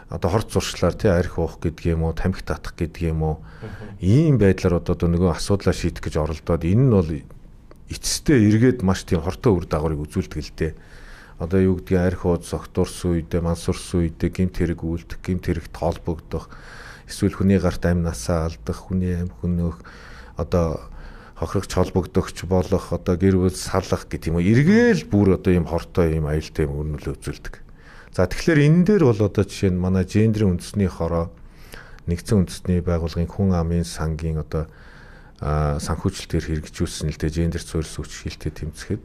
одоо хорт зуршлаар тий арх уух гэдэг юм уу, тамхи татах гэдэг юм уу. Ийм байдлаар одоо нөгөө асуудлаа шийдэх гэж оролдоод энэ нь бол эцэстээ эргээд маш тийм хортой үр дагаврыг үзүүлдэг л дээ. Одоо юу гэдгийг арх ууд согтуурсан үедээ, мансурсан үедээ гэмт хэрэг үйлдэх, гэмт хэрэгт холбогдох, эсвэл хүний гарт амь насаа алдах, хүний амь хөнөөх одоо хохирогч холбогдогч болох одоо гэр бүл салах гэдэг юм уу эргээл бүр одоо ийм хортой ийм аюултай юм өрнөлөө үзүүлдэг. За тэгэхээр энэ дээр бол одоо жишээ нь манай гендрийн үндэсний хороо нэгдсэн үндэсний байгууллагын хүн амын сангийн одоо санхүүжилтээр хэрэгжүүлсэн л дээ гендер суурьс хүч шилтээ тэмцэхэд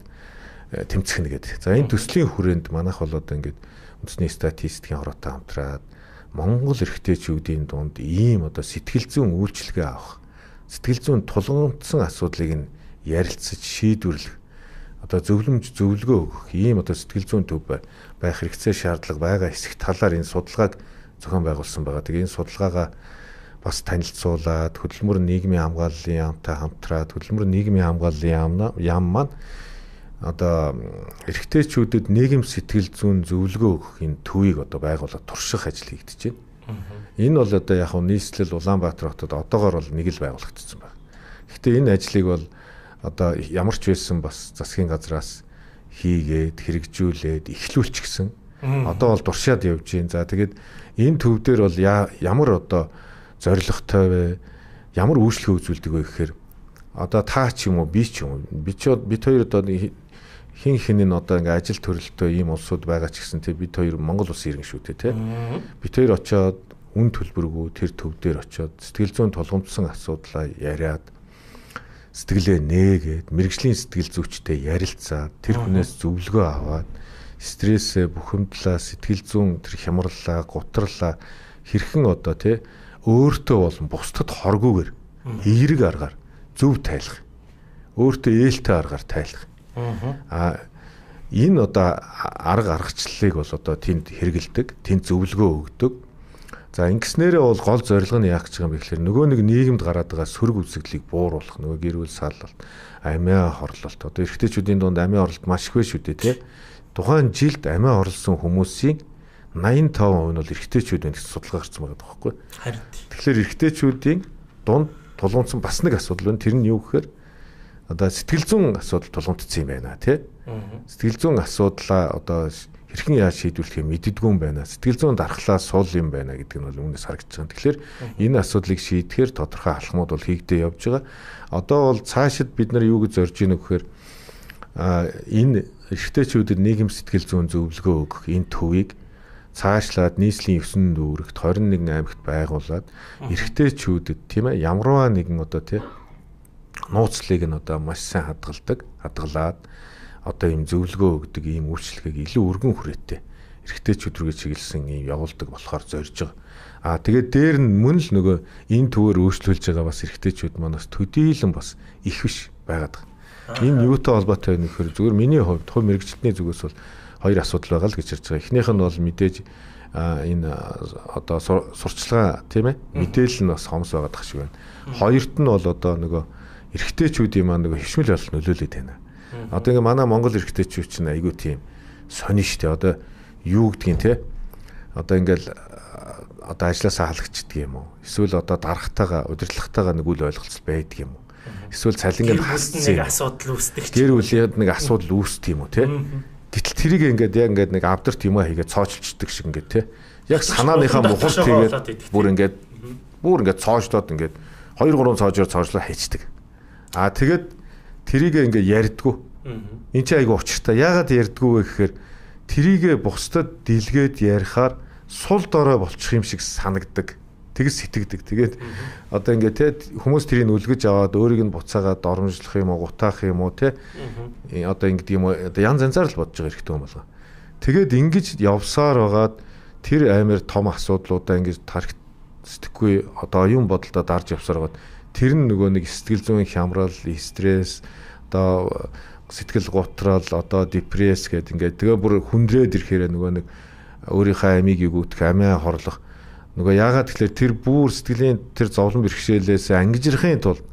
тэмцэх нэгэд. За энэ төслийн хүрээнд манайх бол одоо ингээд үндэсний статистикийн хороотой хамтраад Монгол эрхтэйчүүдийн дунд ийм одоо сэтгэл зүйн үйлчилгээ авах сэтгэл зүйн тулгамдсан асуудлыг нь ярилцаж шийдвэрлэх одоо зөвлөмж зөвлөгөө өгөх ийм одоо сэтгэл зүйн төв байх хэрэгцээ шаардлага байгаа хэсэг талаар энэ судалгааг зохион байгуулсан байгаа. Тэгээ энэ судалгаагаа бас танилцуулаад хөдөлмөр нийгмийн хамгааллын яамтай хамтраад хөдөлмөр нийгмийн хамгааллын яам яам маань одоо эрэгтэйчүүдэд нийгэм сэтгэл зүйн зөвлөгөө өгөх энэ төвийг одоо байгуулаад турших ажил хийгдэж байна. Энэ бол одоо яг нь нийслэл Улаанбаатар хотод одоогоор бол нэг л байгуулагдсан байна. Гэхдээ энэ ажлыг бол одоо ямар ч байсан бас засгийн газраас хийгээд хэрэгжүүлээд эхлүүлчихсэн. Одоо бол туршаад явж байна. За тэгээд энэ төв дээр бол ямар одоо зорилготой вэ? Ямар үйлчлэг үзүүлдэг вэ гэхээр одоо та ч юм уу би ч юм уу бид бид хоёр одоо хин хинэн одоо ингээ ажил төрөлтөө ийм улсууд байгаа ч гэсэн тий бид хоёр Монгол улсын иргэн шүү дээ тий. Бид хоёр очоод үн төлбөргүй тэр төв дээр очоод сэтгэл зүйн тулгымдсан асуудлаа яриад сэтгэлээ нээгээд мэрэгжлийн сэтгэл зүйчтэй ярилцаад тэр хүнээс зөвлөгөө аваад стрессээ бухимдлаа сэтгэл зүйн тэр хямраллаа гутраллаа хэрхэн одоо тий өөртөө болон бусдад хоргүйгээр эерэг аргаар зөв тайлах өөртөө ээлтэй аргаар тайлах а энэ одоо арга аргачлалыг бол одоо тэнд хэрэгэлдэг тэнд зөвлөгөө өгдөг. За ингэснээрээ бол гол зорилго нь яах гэж байгаа юм бэ гэхээр нөгөө нэг нийгэмд гараад байгаа сөрөг үзэгдлийг бууруулах нөгөө гэр бүл саллалт амиа хорлолт одоо эрэгтэйчүүдийн дунд амиа хорлолт маш их байна шүү дээ тий. Тухайн жилд амиа хорлсон хүмүүсийн восемьдесят и пять хувь нь бол эрэгтэйчүүд байна гэж судалгаа гарсан байгаа байхгүй. Харин тэгэхээр эрэгтэйчүүдийн дунд тулгуунсан бас нэг асуудал байна. Тэр нь юу гэхээр одоо сэтгэл зүйн асуудал тулгуунтсан юм байна тий. Сэтгэл зүйн асуудлаа одоо хэрхэн яаж шийдвэрлэхээ мэддэггүй юм байна. Сэтгэл зүйн дархлаа суул юм байна гэдэг нь бол өмнөөс харагдаж байгаа. Тэгэхээр энэ асуудлыг шийдэхээр тодорхой алхмууд бол хийгдээ явж байгаа. Одоо бол цаашид бид нар юу гэж зорж ийнө гэхээр энэ эрэгтэйчүүдэд нийгэм сэтгэл зүйн зөвлөгөө өгөх энэ төвийг цаашлаад нийслэлийн ертөнцийн дүүрэгт двадцать и один аймагт байгуулад эрэгтэйчүүдэд тийм ээ ямарваа нэгэн одоо тийм нууцлыг нь одоо маш сайн хадгалдаг, хадгалаад одоо ийм зөвлөгөө өгдөг ийм үйлчлэгийг илүү өргөн хүрээтэй эрэгтэйчүүд рүү чиглэсэн ийм явуулдаг болохоор зорж байгаа. Аа тэгээд дээр нь мөн л нөгөө энэ төвөөр өөрчлөлж байгаа бас эрэгтэйчүүд манаас төдийлөн бас их биш байгаад байгаа. Энэ юутай холбоотой вэ гэхээр зүгээр миний хувьд хувь мэрэгчлэлтний зүгээс бол хоёр асуудал байгаа л гэж ярьж байгаа. Эхнийх нь бол мэдээж энэ одоо сурчлагаа тийм ээ мэдээлэл нь бас хомс байгаад тах шиг байна. Хоёрт нь бол одоо нөгөө эрэгтэйчүүдийн маань нөгөө хөвшмөл болол нөлөөлөд байна. Одоо ингээ манай Монгол эрэгтэйчүүд чинь айгүй тийм сонин штэ. Одоо юу гэдгийг те одоо ингээл одоо ажилласаа халагчдаг юм уу? Эсвэл одоо дарахтайгаа удирдлагатайгаа нэг үл ойлголцол байдаг юм уу? Эсвэл цалингийн хасцсан нэг асуудал үүсдэг ч гэр бүлийн нэг асуудал үүсдэг юм уу те? Гэтэл тэрийг ингээд яг ингээд нэг авдарт юм аа хийгээд цоочилчдаг шиг ингээд те. Яг санааныхаа мухалт хийгээд бүр ингээд бүр ингээд цоожлоод ингээд хоёр гурван цоожоор цоожлоо хийчдэг. Аа тэгээд тэрийг ингээд ярьдгүү. Энд чинь айгу учиртай. Яагаад ярьдгүү вэ гэхээр тэрийгэ бусдад дэлгээд ярихаар сул дорой болчих юм шиг санагдаг. Тэгс сэтгэдэг. Тэгээд одоо ингээд те хүмүүс тэрийг үлгэж аваад өөрийг нь буцаагаад доромжлох юм уу, гутаах юм уу те. Одоо ингээд юм одоо янз янзаар л бодож байгаа хэрэгтэй юм болоо. Тэгээд ингэж явсаар байгаад тэр амар том асуудлуудаа ингэж тарих сэтгэхгүй одоо оюун бодолдоо дарж явсаар байгаад тэр нь нөгөө нэг сэтгэл зүйн хямрал, стресс, одоо сэтгэл гутрал, одоо депресс гэдэг ингээд тэгээ бүр хүндрээд ирэхээр нөгөө нэг өөрийнхөө амийг өгөх, амиа хорлох нөгөө яагаад тэгэхээр тэр бүр сэтгэлийн тэр зовлон бэрхшээлээс ангижрахын тулд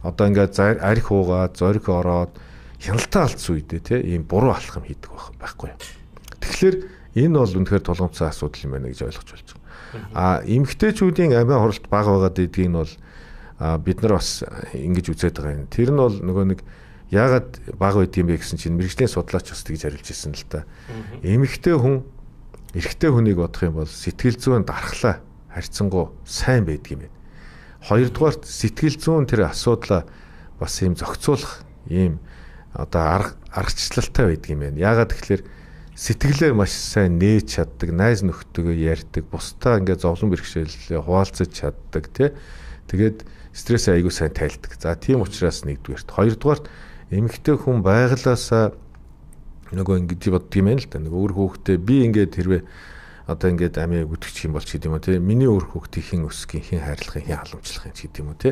одоо ингээд арх уугаад, зориг ороод хяналтаа алдсан үедээ тий ийм буруу алхам хийдэг байхгүй юу. Тэгэхээр энэ бол үнэхээр тулгымцсан асуудал юм байна гэж ойлгож болж байгаа. А эмэгтэйчүүдийн амиа хорлолт бага байгаад идгийг нь бол бид нар бас ингэж үзээд байгаа юм. Тэр нь бол нөгөө нэг яагаад бага байд юм бэ гэсэн чинь мэрэгжлийн судлаач бас тэгж харилж ирсэн л та. Эмэгтэй хүн эрэгтэй хүнийг бодох юм бол сэтгэл зүйн дархлаа харьцангуй сайн байдаг юм байна. Хоёрдугаарт сэтгэл зүйн тэр асуудлаа бас ийм зохицуулах ийм одоо арга аргачлалтай байдаг юм байна. Яагаад тэгэхээр сэтгэлээ маш сайн нээж чаддаг, найз нөхдөдөө ярьдаг, бусдаа ингээд зовлон бэрхшээлээ хуваалцаж чаддаг тий. Тэгээд стресс аягүй сайн тайлдаг. За тийм учраас нэгдүгээрт. Хоёрдугаарт эмэгтэй хүн байглаасаа нөгөө ингэж боддог юм байна л да. Нөгөө өөр хүүхдээ би ингээд хэрвээ одоо ингээд амиа гүтгэж юм бол ч гэдэм үү те. Миний өөр хүүхдийг хэн өсгөх, хэн хайрлах, хэн халамжлах ч гэдэм үү те.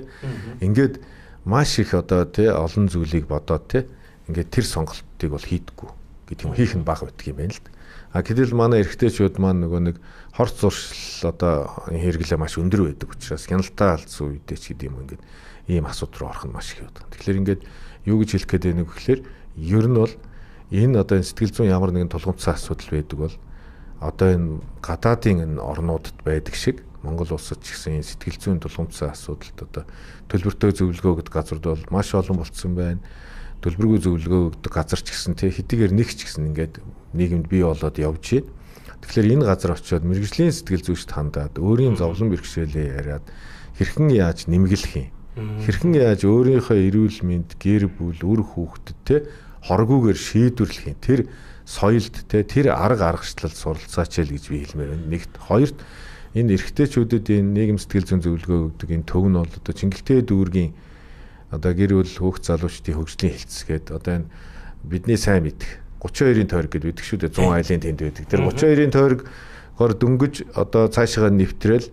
Ингээд маш их одоо те олон зүйлийг бодоод те ингээд тэр сонголтыг бол хийдэггүй гэдэг юм хийх нь бага байдаг юм байна л да. А гэтэл манай эрэгтэйчүүд маань нөгөө нэг хорц зуршил одоо хэрэглээ маш өндөр байдаг учраас хяналтаа алдсан үедээ ч гэдэг юм ингээд ийм асуудал руу орох нь маш их байдаг. Тэгэхээр ингээд юу гэж хэлэх гээд байна вэ гэхээр ер нь бол энэ одоо сэтгэл зүйн ямар нэгэн тулгымцсан асуудал байдаг бол одоо энэ гадаадын энэ орнуудад байдаг шиг Монгол улсад ч гэсэн энэ сэтгэл зүйн тулгымцсан асуудалд одоо төлбөртэй зөвлөгөө гэдэг газрууд бол маш олон болцсон байна. Төлбөргүй зөвлөгөө өгдөг газар ч гэсэн тий хэдийгээр нэг ч гэсэн ингээд нийгэмд бий болоод явж байна. Тэгэхээр энэ газар очиод мэрэгжлийн сэтгэл зүйчд хандаад өөрийн зовлон бэрхшээлээ яриад хэрхэн яаж нэмгэлэх юм. Хэрхэн яаж өөрийнхөө эрүүл мэнд, гэр бүл, үр хүүхдэд тий хоргүйгээр шийдвэрлэх юм. Тэр соёлд тий тэр арга аргачлал суралцаач л гэж би хэлмээр байна. Нэгт хоёрт энэ эрэгтэйчүүдэд энэ нийгэм сэтгэл зүйн зөвлөгөө өгдөг энэ төв нь бол одоо Чингэлтэй дүүргийн одоо гэр бүл хүүхд залуучдын хөгжлийн хэлцгээд одоо энэ бидний сайн мэдэх гурван хоёрын тойрог гэдэг байдаг шүү дээ зүүн айлын тэнд байдаг. Тэр гурван хоёрын тойрогоор дөнгөж одоо цаашаа нэвтрэл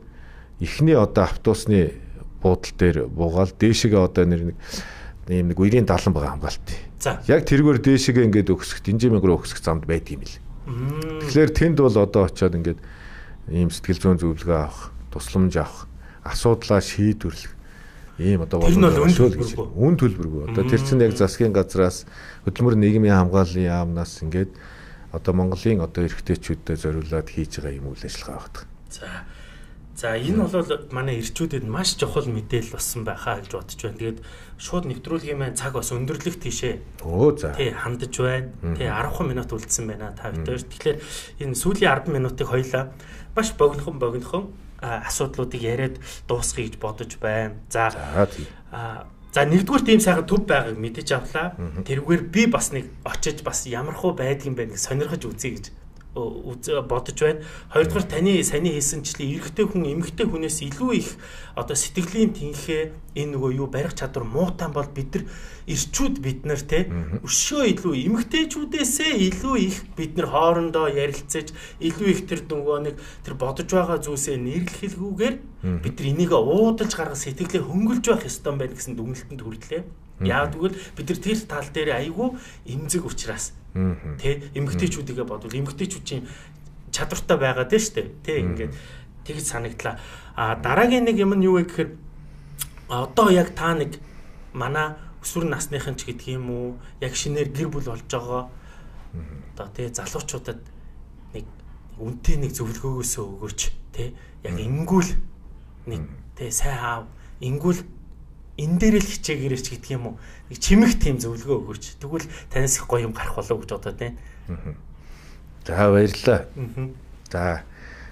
эхний одоо автобусны буудлын дээр буугаал дээшгээ одоо нэг ийм нэг үерийн далан байгаа хамгаалт. Яг тэргээр дээшгээ ингээд өгсөх динжимэг рүү өгсөх замд байд юм л. Тэгэхээр тэнд бол одоо очиод ингээд ийм сэтгэл зүйн зөвлөгөө авах, тусламж авах, асуудлаа шийдвэрлэх ийм одоо боломжтой гэж үн төлбөргүй. Одоо тэр чинь яг засгийн газраас хөдөлмөр нийгмийн хамгааллын яамнаас ингээд одоо Монголын одоо эрэгтэйчүүдэд зориулаад хийж байгаа юм үйл ажиллагаа багт. За. За энэ бол манай эрчүүдэд маш чухал мэдээлэл болсон байхаа гэж бодож байна. Тэгээд шууд нэвтрүүлгийн маань цаг бас өндөрлөх тийшээ. Өө за. Тий хандаж байна. Тий арван минут үлдсэн байна та бүхэн. Тэгэхээр энэ сүүлийн арван минутыг хоёлаа маш богинохон богинохон асуудлуудыг яриад дуусгая гэж бодож байна. За. За нэгдүгээр тийм сайхан төв байгааг мэдэж авлаа. Тэрүүгээр би бас нэг очиж бас ямархуу байдгийн байх сонирхож үзье гэж бодож байна. Хоёрдугаар таны саяны хийсэнчлэн эрэгтэй хүн эмэгтэй хүнээс илүү их одоо сэтгэлийн тэнхээ энэ нөгөө юу барих чадвар муутан бол бид нар эрчүүд бид нар те өшөө илүү эмэгтэйчүүдээсээ илүү их бид нар хоорондоо ярилцаж илүү их тэр нөгөө нэг тэр бодож байгаа зүйлсээ нэрлэхэлгүйгээр бид нар энийг уудалж гаргах сэтгэлээ хөнгөлж байх ёстой байна гэсэн дүгнэлтэнд хүрлээ. Яагад гэвэл бид нар тэр тал дээр айгүй эмзэг учраас тэ эмэгтэйчүүдийгээ бодвол эмэгтэйчүүдийн чадвартай байгаад байна шүү дээ. Тэ ингээд тэгж санагдлаа. А дараагийн нэг юм нь юу вэ гэхээр одоо яг та нэг манай өсвөр насныхан ч гэдэг юм уу яг шинээр гэр бүл болж байгаа одоо тэ залуучуудад нэг үнтэй нэг зөвлөгөөгөөсөө өгөөч тэ яг ингүүл нэг тэ сайн аав ингүүл энэ дээр л хичээгээрч гэдэг юм уу нэг чимэх тийм зөвлөгөө өгөөч. Тэгвэл танаас их гоё юм гарах болов гэж бодоод байна. За баярлалаа. За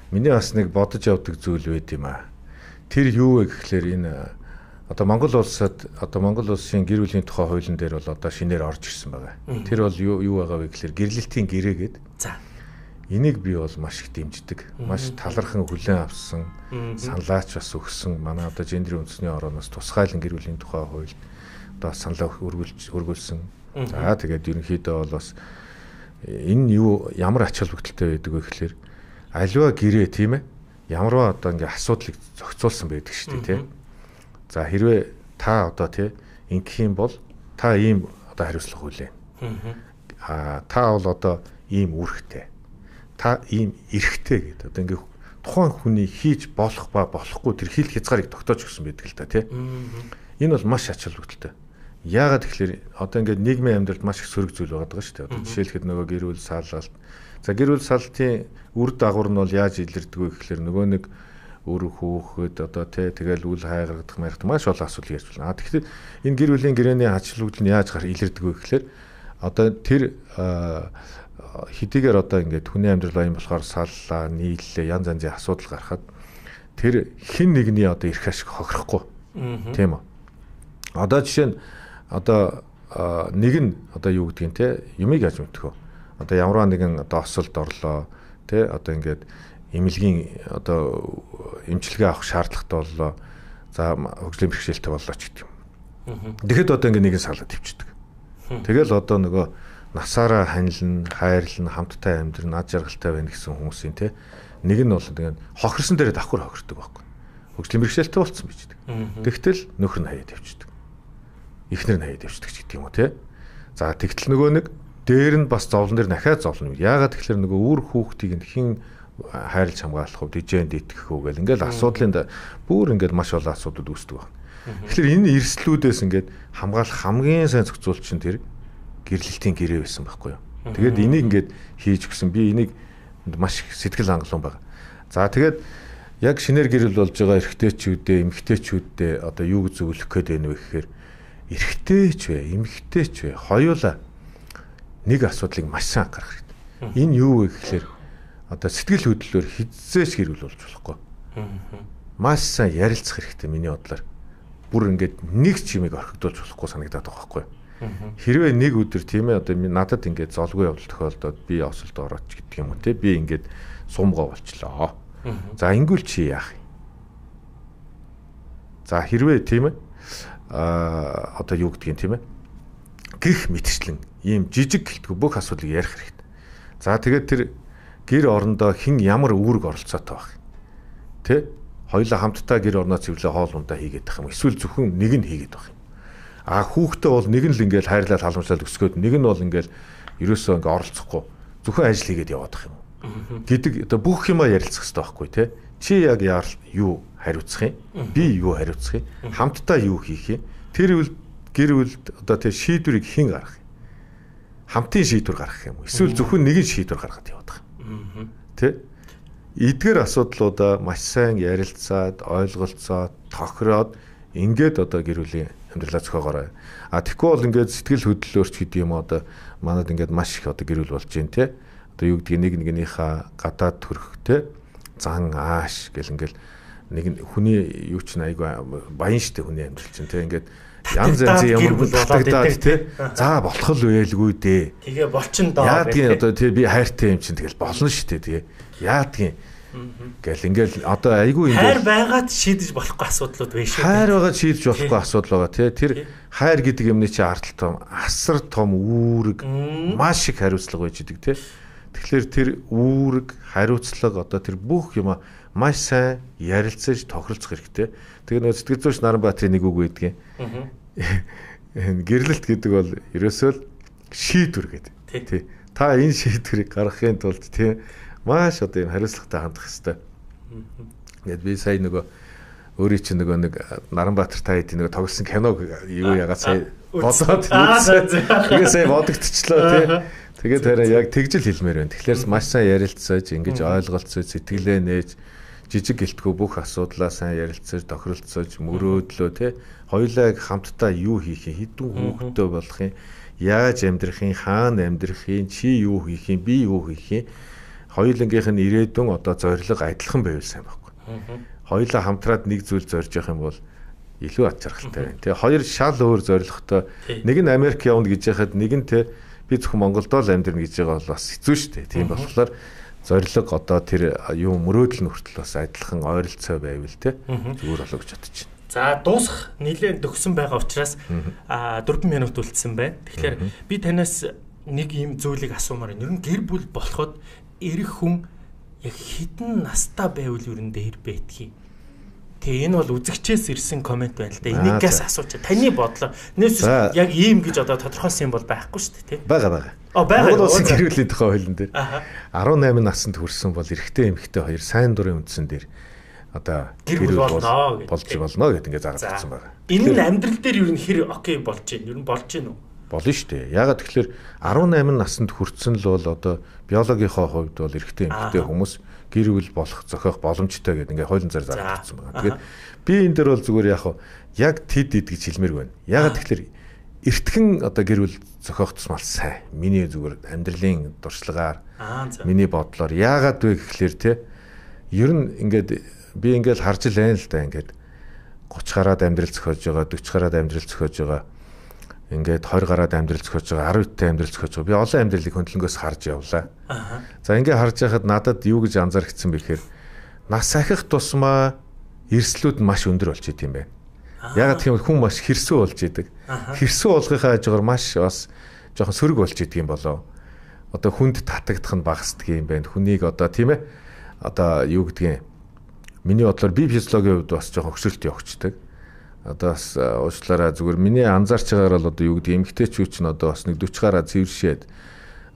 миний бас нэг бодож явдаг зүйл байд юм аа. Тэр юу вэ гэхлээр энэ одоо Монгол улсад одоо Монгол улсын гэр бүлийн тухай хуулийн дээр бол одоо шинээр орж ирсэн байгаа. Тэр бол юу юу байгаа вэ гэхлээр гэрлэлтийн гэрээ гэдэг. За энийг би бол маш их дэмждэг. Маш талархан хүлээн авсан, саналаач бас өгсөн. Манай одоо гендрийн үндэсний орооноос тусгайлан гэр бүлийн тухай хууль одоо саналаа өргүүлж өргүүлсэн. За тэгээд ерөнхийдөө бол бас энэ юу ямар ач холбогдолтой байдаг вэ гэхлээр аливаа гэрээ тийм ээ ямарваа одоо ингээ асуудлыг зохицуулсан байдаг шүү дээ тийм. За хэрвээ та одоо тийм ингэх юм бол та ийм одоо хариуцлага хүлээн. Аа та бол одоо ийм үүрэгтэй. Та ийм эрхтэй гэдэг. Одоо ингээ тухайн хүний хийж болох ба болохгүй тэр хил хязгаарыг тогтоож өгсөн байдаг л да тийм. Энэ бол маш ач холбогдолтой. Яагаад тэгэхээр одоо ингээд нийгмийн амьдралд маш их сөрөг зүйл байгаа даа шүү дээ. Одоо жишээлхэд нөгөө гэр бүл саалалт. За гэр бүл саалтын үр дагавар нь бол яаж илэрдэг вэ гэхээр нөгөө нэг өр хөөхөд одоо тий тэгэл үл хайгардах маягт маш олон асуудал ярьж байна. А тэгэхээр энэ гэр бүлийн гэрээний ач холбогдол нь яаж гар илэрдэг вэ гэхээр одоо тэр хэдийгээр одоо ингээд хүний амьдрал аян болохоор саллаа, нийллээ, янз янзын асуудал гарахад тэр хэн нэгний одоо эрх ашиг хохирохгүй. Тийм үү? Одоо жишээ нь одоо нэг нь одоо юу гэдгийг те юмыг яаж мэдэх вэ? Одоо ямарваа нэгэн одоо осолд орлоо те одоо ингээд эмнэлгийн одоо эмчилгээ авах шаардлагатай боллоо. За хөгжлийн бэрхшээлтэй боллоо ч гэдэг юм. Тэгэхэд одоо ингээд нэгэн салаад ивчдэг. Тэгэл одоо нөгөө насаараа ханилна, хайрлна, хамттай амьдрна, ад жаргалтай байна гэсэн хүмүүсийн те нэг нь бол тэгээд хохирсон дээрээ давхар хохирдог байхгүй. Хөгжлийн бэрхшээлтэй болцсон байж дээ. Тэгтэл нөхөр нь хаяад ивчдэг. Эхнэр нь хаяад ивчдэг ч гэдэг юм уу те. За тэгтэл нөгөө нэг дээр нь бас зовлон дээр дахиад зовлон. Яагаад тэгэхээр нөгөө үр хүүхдийг нь хэн хайрлж хамгаалах вэ? Дижээнд итгэх үү гэл ингээл асуудлын бүр ингээд маш олон асуудууд үүсдэг байна. Тэгэхээр энэ эрсдлүүдээс ингээд хамгаалах хамгийн сайн зохицуулт чинь тэр гэрлэлтийн гэрээ байсан байхгүй юу? Тэгээд энийг ингээд хийж өгсөн. Би энийг маш сэтгэл хангалуун байна. За тэгээд яг шинээр гэрэл болж байгаа эрэгтэйчүүдээ, эмэгтэйчүүдээ одоо юу гэж зөвлөх гээд байна вэ гэхээр эрэгтэйч вэ, эмэгтэйч вэ хоёулаа нэг асуудлыг маш сайн анхаарах хэрэгтэй. Энэ юу вэ гэхээр одоо сэтгэл хөдлөлөөр хизээч гэрүүл болж болохгүй. Маш сайн ярилцах хэрэгтэй миний бодлоор. Бүр ингээд нэг ч юмыг орхигдуулж болохгүй санагдаад байгаа байхгүй. Хэрвээ нэг өдөр тийм ээ одоо надад ингээд золгүй явдал тохиолдоод би осолд орооч гэдэг юм уу те би ингээд сумгаа болчлоо. За ингүүл чи яах юм? За хэрвээ тийм ээ а одоо юу гэдгийг тийм ээ гих мэтчлэн ийм жижиг гэлтгүй бүх асуудлыг ярих хэрэгтэй. За тэгээд тэр гэр орондоо хэн ямар үүрэг оролцоотой байх. Тэ? Хоёулаа хамтдаа гэр орноо цэвэрлээ хоол ундаа хийгээд байх юм. Эсвэл зөвхөн нэг нь хийгээд байх юм. А хүүхдээ бол нэг нь л ингээл хайрлаад халамжлаад өсгөөд нэг нь бол ингээл ерөөсөө ингээ оролцохгүй зөвхөн ажил хийгээд яваад байх юм. Гэдэг одоо бүх юмаа ярилцах хэрэгтэй байхгүй тий. Чи яг юу хариуцах юм? Би юу хариуцах юм? Хамтдаа юу хийх юм? Тэр үл гэр бүлд одоо тий шийдвэрийг хэн гаргах юм? Хамтын шийдвэр гаргах юм уу? Эсвэл зөвхөн нэг нь шийдвэр гаргаад яваад байх юм. Тий? Эдгээр асуудлуудаа маш сайн ярилцаад, ойлголцоод, тохироод ингээд одоо гэр бүлийн амьдралаа зохиогоорой. А тэгэхгүй бол ингээд сэтгэл хөдлөлөөрч гэдэг юм одоо манад ингээд маш их одоо гэр бүл болж байна те. Одоо юу гэдгийг нэг нэгнийхээ гадаад төрх те. Зан ааш гэл ингээд нэг хүний юу ч айгүй баян штэ хүний амьдрал чинь те. Ингээд янз янзын ямар болоод те. За болох л байлгүй дээ. Тэгээ болчин доо. Яадгийн одоо те би хайртай юм чинь тэгэл болно штэ тэгээ. Яадгийн гэл ингээл одоо айгүй ингээл хайр байгаад шийдэж болохгүй асуудлууд байна шүү. Хайр байгаад шийдэж болохгүй асуудал байгаа тий. Тэр хайр гэдэг юмны чи ардтал том, асар том үүрэг маш их хариуцлага байж идэг тий. Тэгэхээр тэр үүрэг, хариуцлага одоо тэр бүх юм маш сайн ярилцаж тохиролцох хэрэгтэй. Тэгээ нөө сэтгэл зүйч Наранбаатарын нэг үг байдгийн. Гэрлэлт гэдэг бол ерөөсөө л шийдвэр гэдэг. Тий. Та энэ шийдвэрийг гаргахын тулд тий маш одоо юм хариуцлагатай хандах хэрэгтэй. Ингээд би сая нөгөө өөрийн чинь нөгөө нэг Наранбаатар та хэдийн нөгөө тоглосон киног юу ягаад сая бодоод тэгээ сая бодогдчихлоо тий. Тэгээд хараа яг тэгжил хэлмээр байна. Тэгэхээр маш сайн ярилцаж, ингэж ойлголцож, сэтгэлээ нээж, жижиг гэлтгүй бүх асуудлаа сайн ярилцаж, тохиролцож, мөрөөдлөө тий. Хоёулаа хамтдаа юу хийх юм, хэдэн хүүхэдтэй болох юм, яаж амьдрах юм, хаана амьдрах юм, чи юу хийх юм, би юу хийх юм. Хоёулангийнх нь ирээдүйн одоо зорилго адилхан байвал сайн байхгүй. Хоёулаа хамтраад нэг зүйл зорж явах юм бол илүү ад жаргалтай байна. Тэгээ хоёр шал өөр зорилготой. Нэг нь Америк явна гэж яхад нэг нь те би зөвхөн Монголдоо л амьдрна гэж байгаа бол бас хэцүү шүү дээ. Тийм болохоор зорилго одоо тэр юу мөрөөдөл нь хүртэл бас адилхан ойролцоо байвал те зүгээр болоо гэж бодож байна. За дуусах нэлээд төгсөн байгаа учраас а дөрвөн минут үлдсэн байна. Тэгэхээр би танаас нэг юм зүйлийг асуумаар байна. Ер нь гэр бүл болоход эрэх хүн яг хідэн настай байвал ер нь дээр байтгий. Тэгээ энэ бол үзэгчээс ирсэн комент байна л да. Энийгээс асууж таны бодлоо. Нээс яг ийм гэж одоо тодорхойлсон юм бол байхгүй шүү дээ, тийм. Бага бага. Оо бага. Монгол улсын гэр бүлийн тухай хуулийн дээр арван найман наснд хүрсэн бол эрэгтэй эмэгтэй хоёр сайн дурын үндсэн дээр одоо гэр бүл болно болж болно гэдэг ингээд заагаад ирсэн байна. Энэ нь амьдрал дээр ер нь хэр окей болж байна. Ер нь болж байна уу? Болно шүү дээ. Ягаад тэгэхээр арван найман наснд хүрсэн л бол одоо биологийнхоо хувьд бол эрэгтэй эмэгтэй хүмүүс гэр бүл болох зохиох боломжтой гэдэг ингээд хуулийн зар зарагдсан байна. Тэгээд би энэ дээр бол зүгээр яг яг тэд эд гэж хэлмээргүй байна. Ягаад тэгэхээр эртхэн одоо гэр бүл зохиох тусмал сайн. Миний зүгээр амьдралын дуршлагаар миний бодлоор яагаад вэ гэхлээр те ер нь ингээд би ингээд харж л байна л да ингээд гуч гараад амьдрал зохиож байгаа, дөрвөн гараад амьдрал зохиож байгаа. Ингээд хоёр гараад амьдрал зохиож байгаа, арав иттэй амьдрал зохиож байгаа. Би олон амьдралыг хөндлөнгөөс харж явлаа. За ингээд харж байхад надад юу гэж анзаарчихсан бэ гэхээр нас ахих тусмаа эрсдлүүд маш өндөр болж идэм байна. Ягаад гэх юм хүн маш хэрсүү болж идэг. Хэрсүү болгохын хажуугаар маш бас жоохон сөрөг болж идэг юм болоо. Одоо хүнд татагдах нь багасдаг юм байна. Хүнийг одоо тийм ээ одоо юу гэдгийг миний бодлоор би физиологийн хувьд бас жоохон хөшөлт явагддаг. одоо бас уучлаарай зүгээр миний анзаарч байгаагаар бол одоо юу гэдэг эмгтээчүүд ч одоо бас нэг сорок гараа цэвэршээд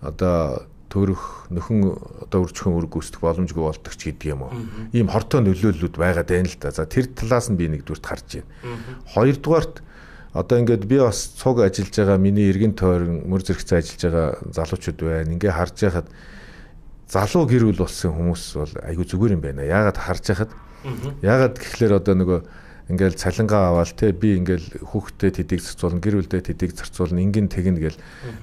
одоо төрөх нөхөн одоо үржихэн үр гүйцэтгэх боломжгүй болдог ч гэдэг юм уу. Ийм хортой нөлөөллүүд байгаад байна л да. За тэр талаас нь би нэгдүгürt харж байна. Хоёрдугаарт одоо ингээд би бас цуг ажиллаж байгаа миний эргэн тойрон мөр зэрэгцээ ажиллаж байгаа залуучууд байна. Ингээ харж байхад залуу гэр бүл болсон хүмүүс бол айгүй зүгээр юм байна. Яагаад харж байхад яагаад гэхлээр одоо нөгөө ингээл цалингаа аваад те би ингээл хүүхдэд тэдийг зарцуулна гэр бүлдээ тэдийг зарцуулна ингэн тэгнэ гэл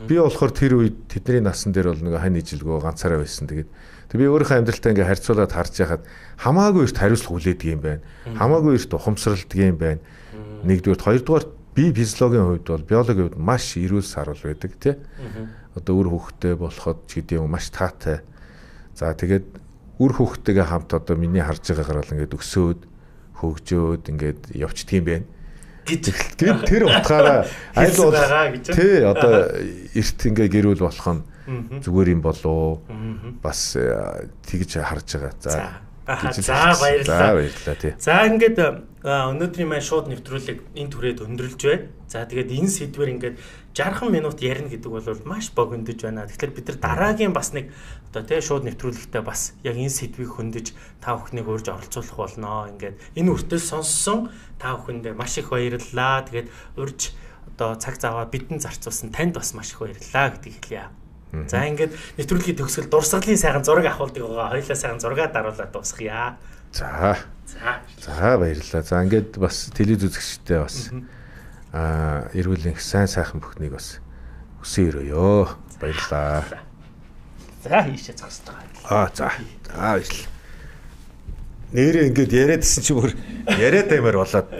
би болохоор тэр үед тэдний насан дээр бол нөгөө хань ижилгөө ганцаараа байсан тэгээд тэг би өөрийнхөө амьдралтаа ингээ харьцуулаад харж яхад хамаагүй эрт хариуцлага хүлээдэг юм байна хамаагүй эрт ухамсарладаг юм байна нэгдүгээр хоёрдугаар би физиологийн хувьд бол биологийн хувьд маш эрүүл сарвал байдаг те одоо үр хүүхдэд болоход ч гэдэг юм маш таатай за тэгээд үр хүүхдтэйгээ хамт одоо миний харж байгаагаар бол ингээд өсөөд хөгжөөд ингээд явчихдаг юм байна. Тэгээд тэр утгаараа аль бол тий одоо эрт ингээ гэрүүл болох нь зүгээр юм болоо бас тэгж харж байгаа. За за баярлалаа. Баярлалаа тий. За ингээд өнөөдрийн маань шууд нэвтрүүлэг энэ түрээд өндөрлж байна. За тэгээд энэ сэдвэр ингээд сixty минут ярина гэдэг бол маш богиндож байна. Тэгэхээр бид нар дараагийн бас нэг одоо тий шууд нэвтрүүлэгтээ бас яг энэ сэдвийг хөндөж та бүхнийг урьж оролцуулах болно. Ингээд энэ үртэл сонссон та бүхэндээ маш их баярлалаа. Тэгээд урьж одоо цаг цаваа бидэн зарцуулсан танд бас маш их баярлалаа гэдгийг хэлье. За ингээд нэвтрүүлгийн төгсгөл дурсгалын сайхан зураг авахулдаг байгаа. Хоёулаа сайхан зураг даруулаад дуусгая. За. За. За баярлалаа. За ингээд бас телевиз үзэгчтэй бас аа эргүүлийн сайн сайхан бүхнийг бас хүсэн өрөөё. Баярлалаа. За хийшээ зогсдог. Аа за. За баярлалаа. Нэрээ ингээд яриадсэн чи бүр яриад аймаар болоод